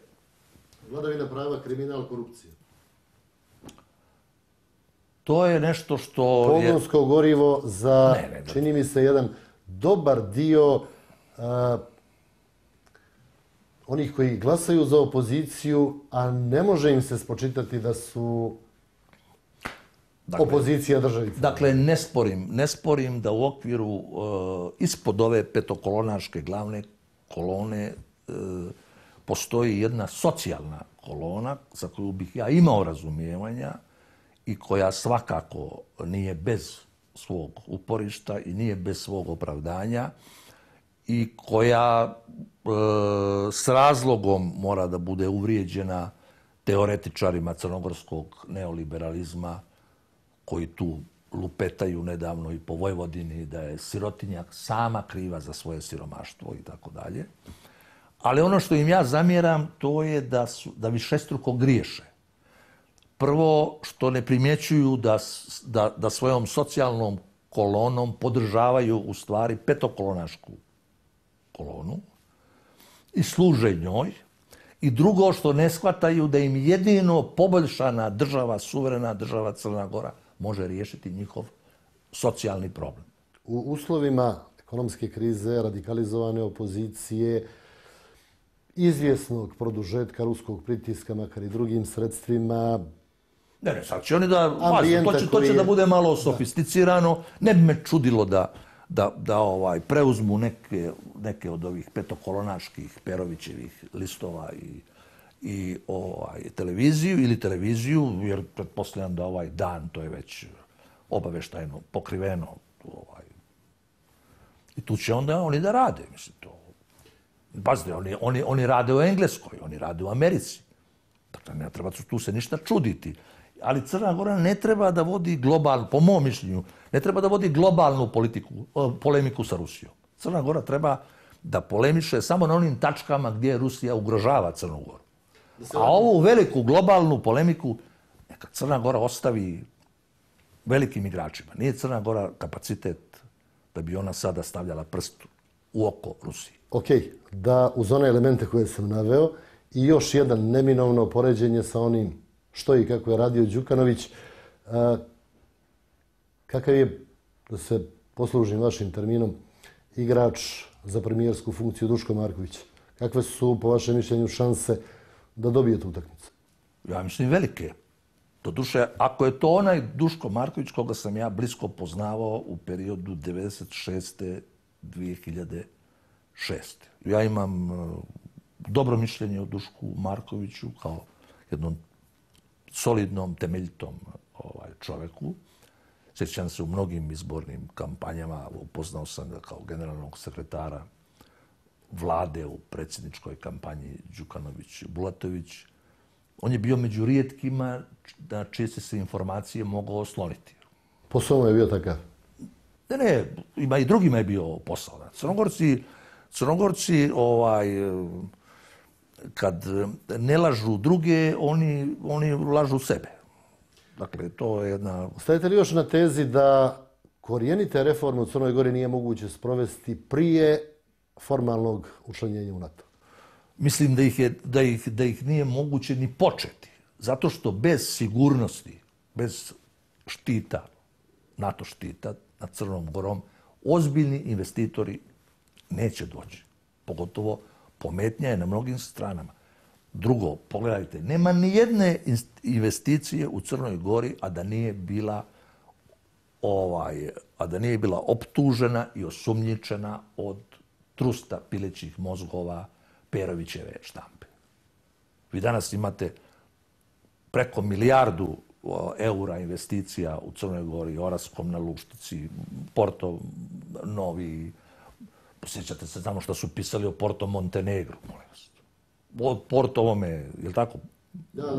Speaker 1: Vladavina prava, kriminal, korupcija.
Speaker 2: To je nešto što...
Speaker 1: Pogonsko gorivo za, čini mi se, jedan dobar dio onih koji glasaju za opoziciju, a ne može im se spočitati da su opozicija državi.
Speaker 2: Dakle, ne sporim da u okviru ispod ove petokolonaške glavne kolone postoji jedna socijalna kolona za koju bih ja imao razumijevanja i koja svakako nije bez svog uporišta i nije bez svog opravdanja i koja s razlogom mora da bude uvrijeđena teoretičarima crnogorskog neoliberalizma koji tu lupetaju nedavno i po Vojvodini da je sirotinja sama kriva za svoje siromaštvo i tako dalje. Ali ono što im ja zamjeram, to je da višestruko griješe. Prvo, što ne primjećuju da svojom socijalnom kolonom podržavaju u stvari petokolonašku kolonu i služe njoj, i drugo što ne shvataju da im jedino poboljšana država, suverena država Crna Gora može riješiti njihov socijalni problem.
Speaker 1: U uslovima ekonomske krize, radikalizovane opozicije, izvjesnog produžetka ruskog pritiska, makar i drugim sredstvima.
Speaker 2: Ne, sad će oni to će da bude malo sofisticirano. Ne bi me čudilo da preuzmu neke od ovih petokolonaških Perovićevih listova i televiziju, jer pretpostavljam da ovaj dan, to je već obaveštajno pokriveno. I tu će onda oni da rade, mislim, to. Pazite, oni rade u Engleskoj, oni rade u Americi. Dakle, ne treba tu se ništa čuditi. Ali Crna Gora ne treba da vodi po mom mišljenju, ne treba da vodi globalnu polemiku sa Rusijom. Crna Gora treba da polemiše samo na onim tačkama gdje Rusija ugrožava Crnu Goru. A ovu veliku globalnu polemiku neka Crna Gora ostavi velikim igračima. Nije Crna Gora kapacitet da bi ona sada stavljala prst u oko Rusiji.
Speaker 1: Ok, da uz one elemente koje sam naveo i još jedan neminovno poređenje sa onim što i kako je radio Đukanović, kakav je, da se poslužim vašim terminom, igrač za premijersku funkciju Duško Marković? Kakve su, po vašem mišljenju, šanse da dobije tu utakmicu?
Speaker 2: Ja mislim velike. Doduše, ako je to onaj Duško Marković koga sam ja blisko poznavao u periodu 96. 2006. Ja imam dobro mišljenje o Dušku Markoviću kao jednom solidnom, temeljitom čoveku. Sjećam se u mnogim izbornim kampanjama, upoznao sam ga kao generalnog sekretara vlade u predsjedničkoj kampanji Đukanović-Bulatović. On je bio među rijetkima na čije se informacije mogao osloniti.
Speaker 1: Posao je bio takav?
Speaker 2: Ne, ima i drugima je bio posao. Crnogorci kad ne lažu druge, oni lažu sebe. Dakle, to je jedna...
Speaker 1: Stajete li još na tezi da korijenite reforme u Crnoj Gori nije moguće sprovesti prije formalnog učlanjenja u NATO?
Speaker 2: Mislim da ih nije moguće ni početi. Zato što bez sigurnosti, bez štita, NATO štita nad Crnom Gorom, ozbiljni investitori neće doći. Pogotovo pometnja je na mnogim stranama. Drugo, pogledajte, nema ni jedne investicije u Crnoj Gori, a da nije bila optužena i osumnjičena od trusta pilećih mozgova Perovićeve štampe. Vi danas imate preko milijardu eura investicija u Crnoj Gori, Oraskom na Luštici, Porto Novi. Posjećate se samo što su pisali o Porto Montenegru, molim vas. O Porto ovome, je li tako?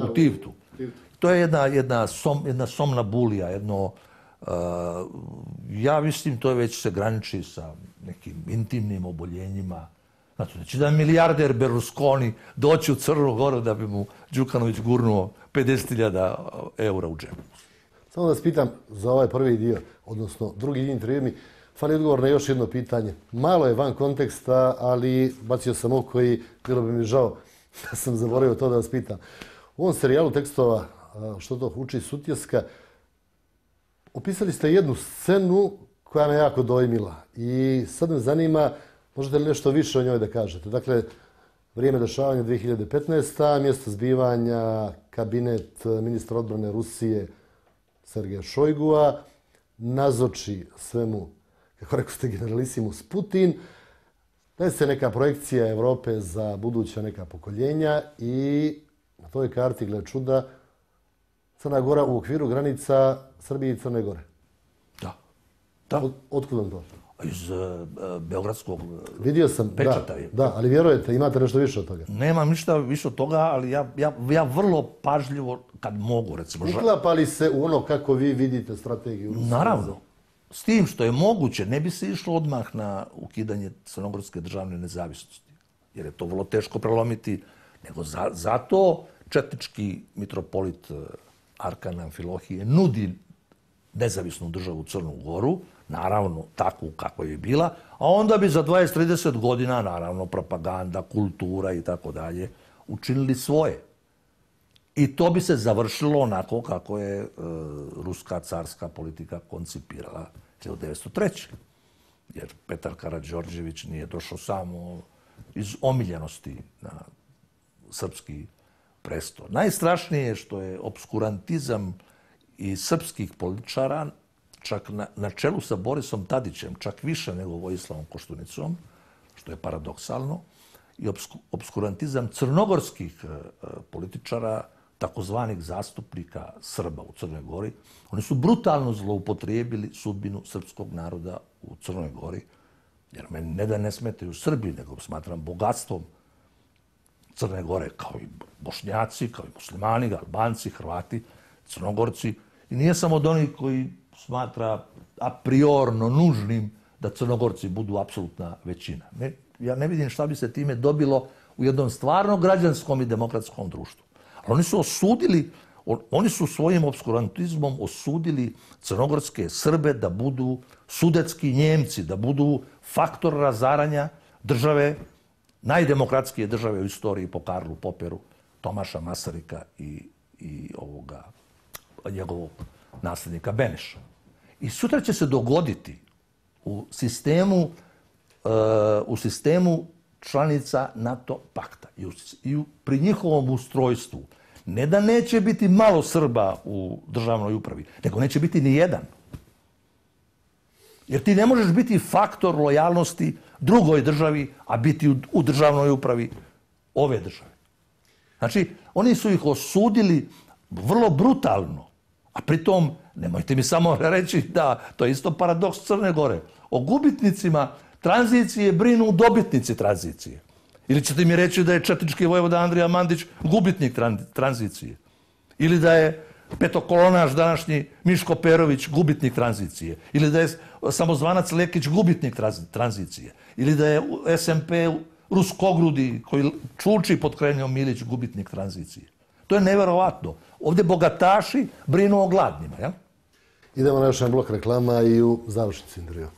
Speaker 2: U Tivtu. To je jedna somnambulija, ja mislim to već se graniči sa nekim intimnim oboljenjima. Znači, da će da milijarder Berlusconi doći u Crnu Goru da bi mu Đukanović gurnuo 50.000 eura u džepu.
Speaker 1: Samo da vas pitam za ovaj prvi dio, odnosno drugi dio intervjua mi, fali odgovor na još jedno pitanje. Malo je van konteksta, ali bacio sam oko i bilo bi mi žao da sam zaboravio to da vas pitam. U ovom serijalu tekstova Što to uči Sutjeska, opisali ste jednu scenu koja me jako dojmila. I sad me zanima, možete li nešto više o njoj da kažete? Dakle, vrijeme dešavanja 2015. Mjesto zbivanja, kabinet ministra odbrane Rusije Sergeja Šojgua, nazoči svemu, kako rekao ste, generalisimus Putin. Daje se neka projekcija Evrope za buduća neka pokoljenja i na toj karti, gle čuda, Crna Gora u okviru granica Srbije i Crne Gore.
Speaker 2: Da.
Speaker 1: Otkud vam to?
Speaker 2: Iz beogradskog
Speaker 1: Vidio sam,
Speaker 2: pečata.
Speaker 1: Da, ali vjerujete, imate nešto više od toga?
Speaker 2: Nemam ništa više od toga, ali ja vrlo pažljivo, kad mogu, recimo...
Speaker 1: Uklapa li se u ono kako vi vidite strategiju?
Speaker 2: Naravno. S tim što je moguće, ne bi se išlo odmah na ukidanje crnogorske državne nezavisnosti. Jer je to vrlo teško prelomiti. Nego zato četnički mitropolit Arkan Amfilohije nudi nezavisnu državu Crnu Goru, naravno takvu kakva je bila, a onda bi za 20-30 godina, naravno, propaganda, kultura i tako dalje, učinili svoje. I to bi se završilo onako kako je ruska carska politika koncipirala 1903. Jer Petar Karađorđević nije došao samo iz omiljenosti na srpski presto. Najstrašnije je što je obskurantizam i srpskih političara, čak na čelu sa Borisom Tadićem, čak više nego Vojislavom Koštunicom, što je paradoksalno, i obskurantizam crnogorskih političara, takozvanih zastupnika Srba u Crnoj Gori, oni su brutalno zloupotrijebili sudbinu srpskog naroda u Crnoj Gori, jer meni ne da ne smetaju Srbi, nego smatram bogatstvom Crne Gore, kao i Bošnjaci, kao i muslimani, Albanci, Hrvati, Crnogorci. I nije samo od onih koji smatra a priorno nužnim da Crnogorci budu apsolutna većina. Ja ne vidim šta bi se time dobilo u jednom stvarno građanskom i demokratskom društvu. Ali oni su svojim obskurantizmom osudili crnogorske Srbe da budu sudetski Njemci, da budu faktor razaranja države, najdemokratskije države u istoriji po Karlu Poperu, Tomaša Masarika i njegovog nasljednika Beneša. I sutra će se dogoditi u sistemu članica NATO pakta i pri njihovom ustrojstvu ne da neće biti malo Srba u državnoj upravi, nego neće biti ni jedan. Jer ti ne možeš biti faktor lojalnosti drugoj državi, a biti u državnoj upravi ove države. Znači, oni su ih osudili vrlo brutalno, a pritom, nemojte mi samo reći da to je isto paradoks Crne Gore. O gubitnicima tranzicije brinu dobitnici tranzicije. Ili ćete mi reći da je četnički vojvoda Andrija Mandić gubitnik tranzicije. Ili da je petokolonaš današnji Miško Perović gubitnik tranzicije. Ili da je samozvanac Lekić gubitnik tranzicije. Ili da je SMP Ruskogrudi koji čuči pod Krenjom Milić gubitnik tranzicije. To je neverovatno. Ovdje bogataši brinu o gladnima, jel?
Speaker 1: Idemo na još jedan blok reklama i u završnici intervjua.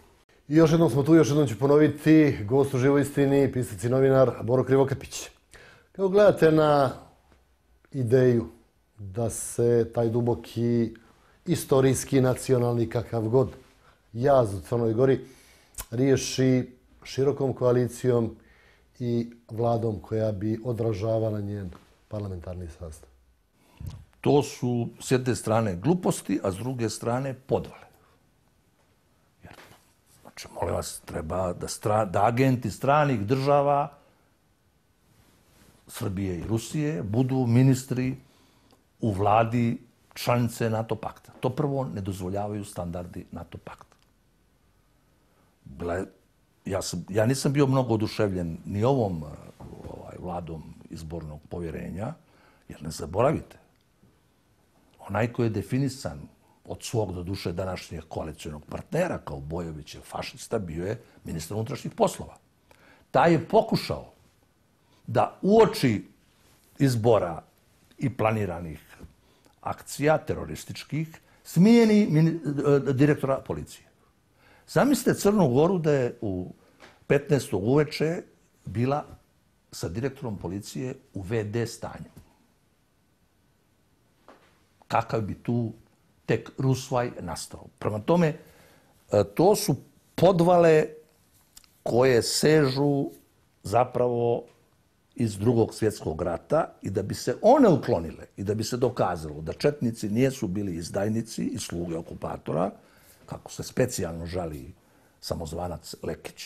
Speaker 1: I još jednom smo tu, još jednom ću ponoviti, gost u živoj istini, pisac i novinar Boro Krivokapić. Kako gledate na ideju da se taj duboki istorijski, nacionalni, kakav god jaz u Crnoj Gori riješi širokom koalicijom i vladom koja bi odražavala njen parlamentarni sastav?
Speaker 2: To su s jedne strane gluposti, a s druge strane podvale. Znači, molim vas, treba da agenti stranih država, Srbije i Rusije, budu ministri u vladi članice NATO pakta. To prvo ne dozvoljavaju standardi NATO pakta. Ja nisam bio mnogo oduševljen ni ovom vladom izbornog povjerenja, jer ne zaboravite, onaj koji je definisan od svog do duše današnjeg koalicionog partnera kao Bojovićev fašista bio je ministar unutrašnjih poslova. Taj je pokušao da uoči izbora i planiranih akcija terorističkih smijeni direktora policije. Zamislite Crnu Goru da je u 15. uveče bila sa direktorom policije u VD stanju. Kakav bi tu tek rusvaj nastao. Prema tome, to su podvale koje sežu zapravo iz Drugog svjetskog rata i da bi se one uklonile i da bi se dokazalo da četnici nisu bili izdajnici i sluge okupatora, kako se specijalno žali samozvanac Lekić,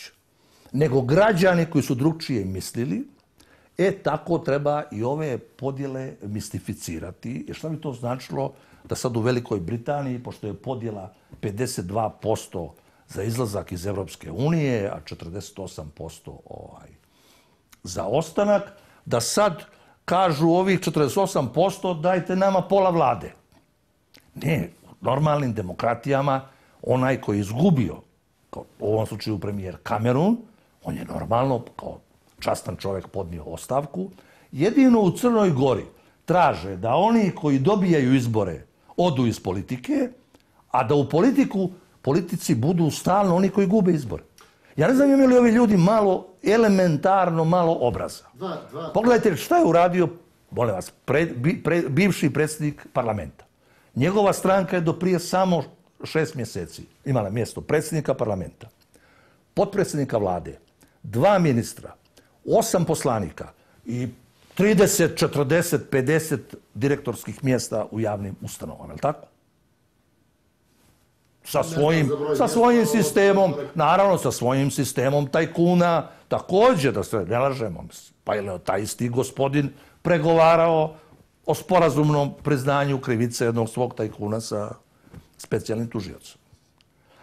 Speaker 2: nego građani koji su drugčije mislili, tako treba i ove podjele mistificirati. Jer šta bi to značilo da sad u Velikoj Britaniji, pošto je podjela 52% za izlazak iz Evropske unije, a 48% za ostanak, da sad kažu ovih 48% dajte nama pola vlade. Ne, u normalnim demokratijama onaj koji je izgubio, kao u ovom slučaju premijer Cameron, on je normalno kao častan čovjek podnio ostavku. Jedino u Crnoj Gori traže da oni koji dobijaju izbore odu iz politike, a da u politici budu stalno oni koji gube izbore. Ja ne znam imaju li ovi ljudi malo, elementarno malo obraza. Pogledajte šta je uradio, molim vas, bivši predsjednik parlamenta. Njegova stranka je do prije samo 6 mjeseci imala mjesto predsjednika parlamenta, potpredsjednika vlade, 2 ministra, 8 poslanika i 30, 40, 50 direktorskih mjesta u javnim ustanovama, je li tako? Sa svojim sistemom, naravno sa svojim sistemom tajkuna, također da se ne lažemo, pa je taj isti gospodin pregovarao o sporazumnom priznanju krivice jednog svog tajkuna sa specijalnim tužiocem.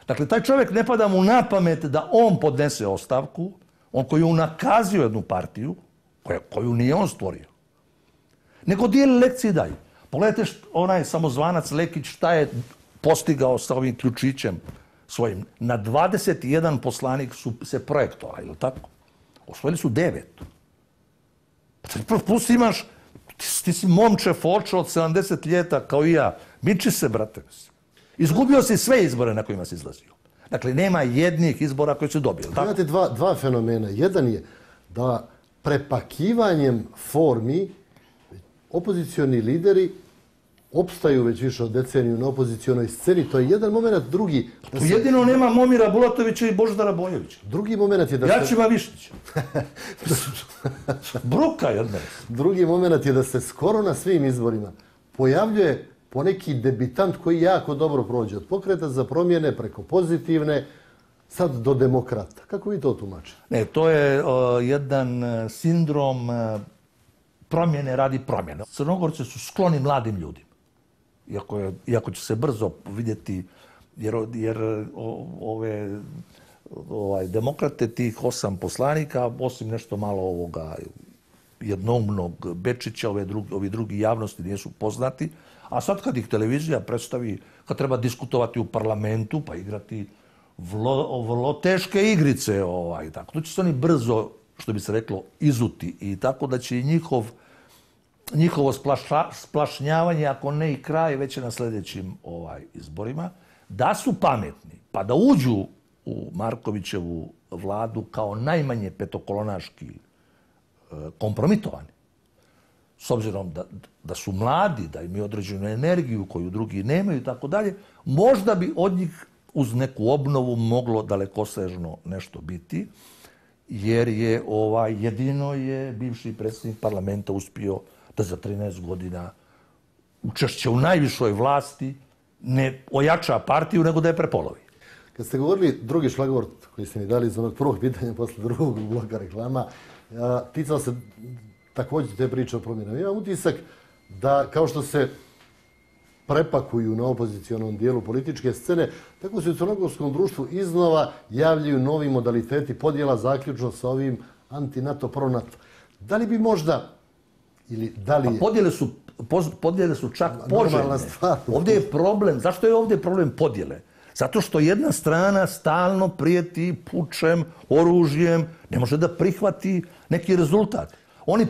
Speaker 2: Dakle, taj čovjek ne pada mu na pamet da on podnese ostavku, on koji je unakazio jednu partiju, koju nije on stvorio, nego dijeli lekcije i dalje. Pogledajte onaj samozvanac Lekić šta je postigao sa ovim ključićem svojim. Na 21 poslanik su se projektovali, ili tako? Osvojili su 9. Plus imaš, ti si momče fočo od 70 ljeta kao i ja. Miči se, brate. Izgubio si sve izbore na kojima si izlazio. Dakle, nema jednih izbora koji su dobili.
Speaker 1: Imate dva fenomena. Jedan je da prepakivanjem formi opozicioni lideri opstaju već više od deceniju na opozicionoj sceni. To je jedan moment. Drugi...
Speaker 2: Tu jedino nema Momira Bulatovića i Božidara Bojovića.
Speaker 1: Drugi moment je da
Speaker 2: Jačima Višnjića. Bruka jedna.
Speaker 1: Drugi moment je da se skoro na svim izborima pojavljuje poneki debitant koji jako dobro prođe. Od Pokreta za promjene preko Pozitivne, sad do Demokrata. Kako vi to tumačite?
Speaker 2: Ne, to je jedan sindrom promjene radi promjene. Crnogorci su skloni mladim ljudima. Iako će se brzo vidjeti, jer demokrate, tih 8 poslanika, osim nešto malo ovoga jednoumnog Bečića, ovi drugi javnosti nisu poznati, a sad kad ih televizija predstavi, kad treba diskutovati u parlamentu, pa igrati vrlo teške igrice, tako, to će se oni brzo, što bi se reklo, izuti i tako da će i njihovo splašnjavanje, ako ne i kraj, već je na sljedećim izborima, da su pametni, pa da uđu u Markovićevu vladu kao najmanje petokolonaški kompromitovani. S obzirom da su mladi, da imaju određenu energiju koju drugi nemaju i tako dalje, možda bi od njih uz neku obnovu moglo dalekosežno nešto biti, jer je jedino je bivši predsjednik parlamenta uspio da za 13 godina učešće u najvišoj vlasti ne ojača partiju, nego da je prepolovi.
Speaker 1: Kad ste govorili drugi šlagvort koji ste mi dali iz onog prvog pitanja posle drugog bloka reklama, ticao se također te priče o promjenama. Imam utisak da kao što se prepakuju na opozicionom dijelu političke scene, tako se u crnogorskom društvu iznova javljaju novi modaliteti podjela zaključno sa ovim anti-NATO, pro-NATO. Da li bi možda ili da li je...
Speaker 2: Podjele su čak poželjne. Ovdje je problem. Zašto je ovdje problem podjele? Zato što jedna strana stalno prijeti pučem, oružjem, ne može da prihvati neki rezultat. Oni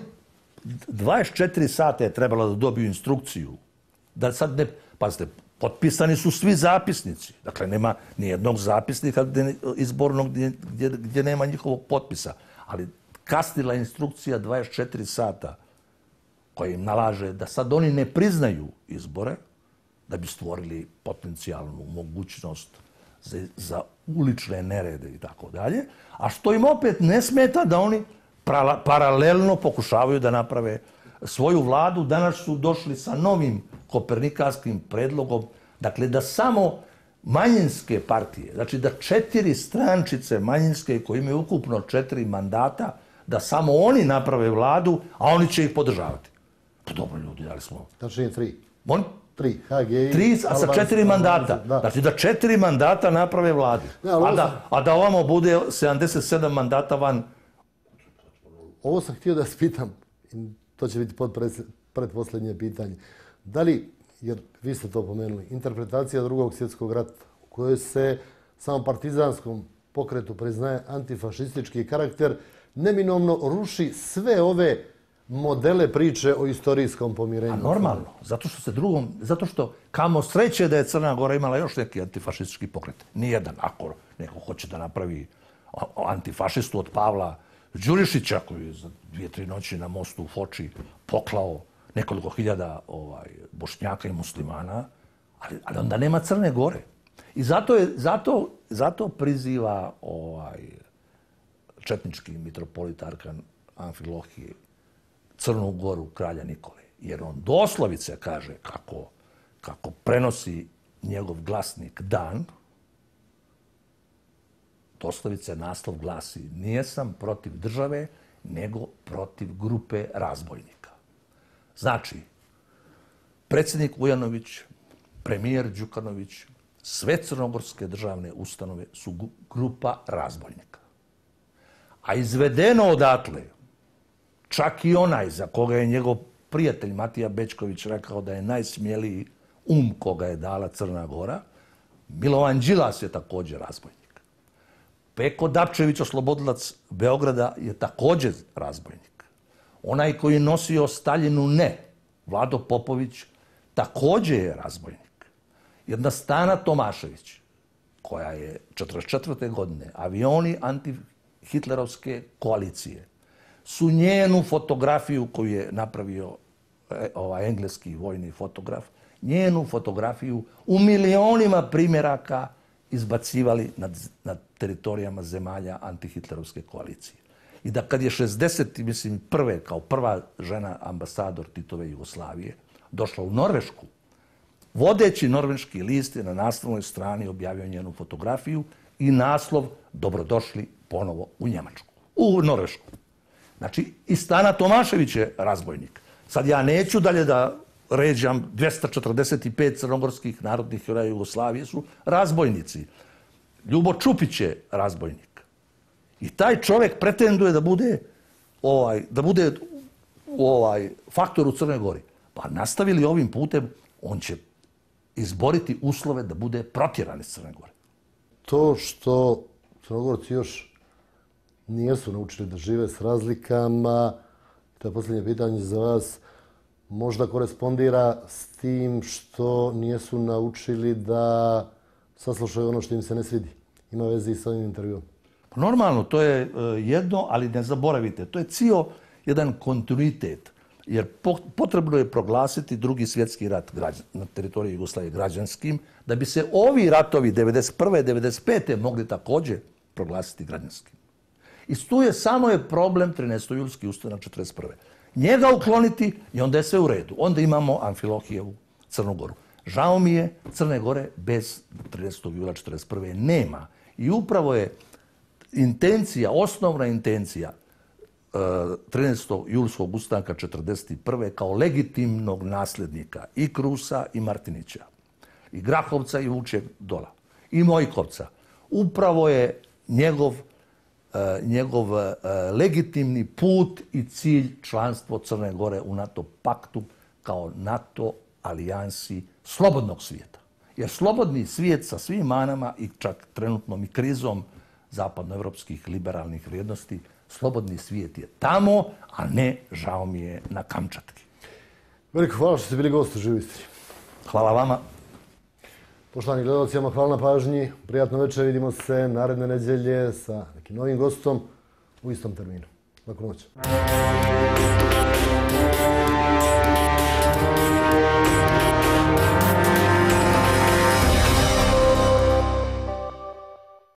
Speaker 2: 24 sata je trebalo da dobiju instrukciju. Da sad ne... Pazite, potpisani su svi zapisnici. Dakle, nema nijednog zapisnika izbornog gdje nema njihovog potpisa. Ali kasnila instrukcija 24 sata koja im nalaže da sad oni ne priznaju izbore, da bi stvorili potencijalnu mogućnost za ulične nerede i tako dalje, a što im opet ne smeta da oni paralelno pokušavaju da naprave svoju vladu. Danas su došli sa novim kopernikanskim predlogom, dakle da samo manjinske partije, znači da 4 strančice manjinske koje imaju ukupno 4 mandata, da samo oni naprave vladu, a oni će ih podržavati. Pa dobro ljudi, dali smo...
Speaker 1: Tačnije 3.
Speaker 2: Molim?
Speaker 1: 3, HGI...
Speaker 2: 3, a sa 4 mandata. Znači da 4 mandata naprave vladu. A da ovamo bude 77 mandata van.
Speaker 1: Ovo sam htio da vas pitam, to će biti predposljednje pitanje. Da li, jer vi ste to pomenuli, interpretacija Drugog svjetskog rata u kojoj se samo partizanskom pokretu priznaje antifašistički karakter, neminovno ruši sve ove modele priče o istorijskom pomirenju?
Speaker 2: A normalno, zato što kamo sreće da je Crna Gora imala još neki antifašistički pokret. Nijedan, ako neko hoće da napravi antifašistu od Pavla Đurišića, koji je za 2-3 noći na mostu u Foči poklao nekoliko hiljada Bošnjaka i muslimana, ali onda nema Crne Gore. I zato priziva četnički mitropolit Arkan Amfilohije Crnu Goru kralja Nikole. Jer on doslovice kaže kako prenosi njegov glasnik Dan, doslovice naslov glasi: nije sam protiv države, nego protiv grupe razbojnika. Znači, predsjednik Vujanović, premijer Đukanović, sve crnogorske državne ustanove su grupa razbojnika. A izvedeno odatle, čak i onaj za koga je njegov prijatelj Matija Bečković rekao da je najsmjeliji koga je dala Crna Gora, Milovan Đilas je također razbojnik. Peko Dapčević, oslobodilac Beograda, je također razbojnik. Onaj koji je nosio Staljinu ne, Vlado Popović, također je razbojnik. Jedna Stana Tomašević, koja je 1944. godine, avioni antihitlerovske koalicije, su njenu fotografiju koju je napravio engleski vojni fotograf, njenu fotografiju u milionima primjeraka izbacivali nad teritorijama zemalja antihitlerovske koalicije. I da kad je 61. kao prva žena ambasador Titove Jugoslavije došla u Norvešku, vodeći norveški list je na naslovnoj strani objavio njenu fotografiju i naslov: dobrodošli ponovo u Njemačku, u Norvešku. Znači, i Stana Tomašević je razbojnik. Sad ja neću dalje da ređam, 245 crnogorskih narodnih heroja Jugoslavije su razbojnici. Ljubo Čupić je razbojnik. I taj čovjek pretenduje da bude faktor u Crnoj Gori. Pa nastavili ovim putem, on će izboriti uslove da bude protjeran iz Crne Gore.
Speaker 1: To što Crnogorci još nisu naučili da žive s razlikama, to je posljednje pitanje za vas, možda korespondira s tim što nisu naučili da saslušaju ono što im se ne svidi. Ima veze i s ovim intervjuom.
Speaker 2: Normalno, to je jedno, ali ne zaboravite, to je cijel jedan kontinuitet. Jer potrebno je proglasiti Drugi svjetski rat na teritoriji Jugoslavije građanskim, da bi se ovi ratovi 1991. 1995. mogli također proglasiti građanskim. I tu je samo problem 13. ustanak 1941. Njega ukloniti i onda je sve u redu. Onda imamo Amfilohijevu Crnu Goru. Žao mi je, Crne Gore bez 13. jula 1941. nema. I upravo je osnovna intencija 13. julskog ustanka 1941. kao legitimnog nasljednika i Krusa i Martinića, i Grahovca i Vučjeg Dola, i Mojkovca. Upravo je njegov legitimni put i cilj članstvo Crne Gore u NATO paktu kao NATO alijansi slobodnog svijeta. Jer slobodni svijet sa svim manama i čak trenutnom i krizom zapadnoevropskih liberalnih vrijednosti, slobodni svijet je tamo, a ne, žao mi je, na Kamčatki.
Speaker 1: Veliko hvala što ste bili gost u Živoj Istri.
Speaker 2: Hvala vama.
Speaker 1: Poštovani gledalci, hvala na pažnji. Prijatno večer, vidimo se naredne nedjelje sa nekim novim gostom u istom terminu. Laku noć.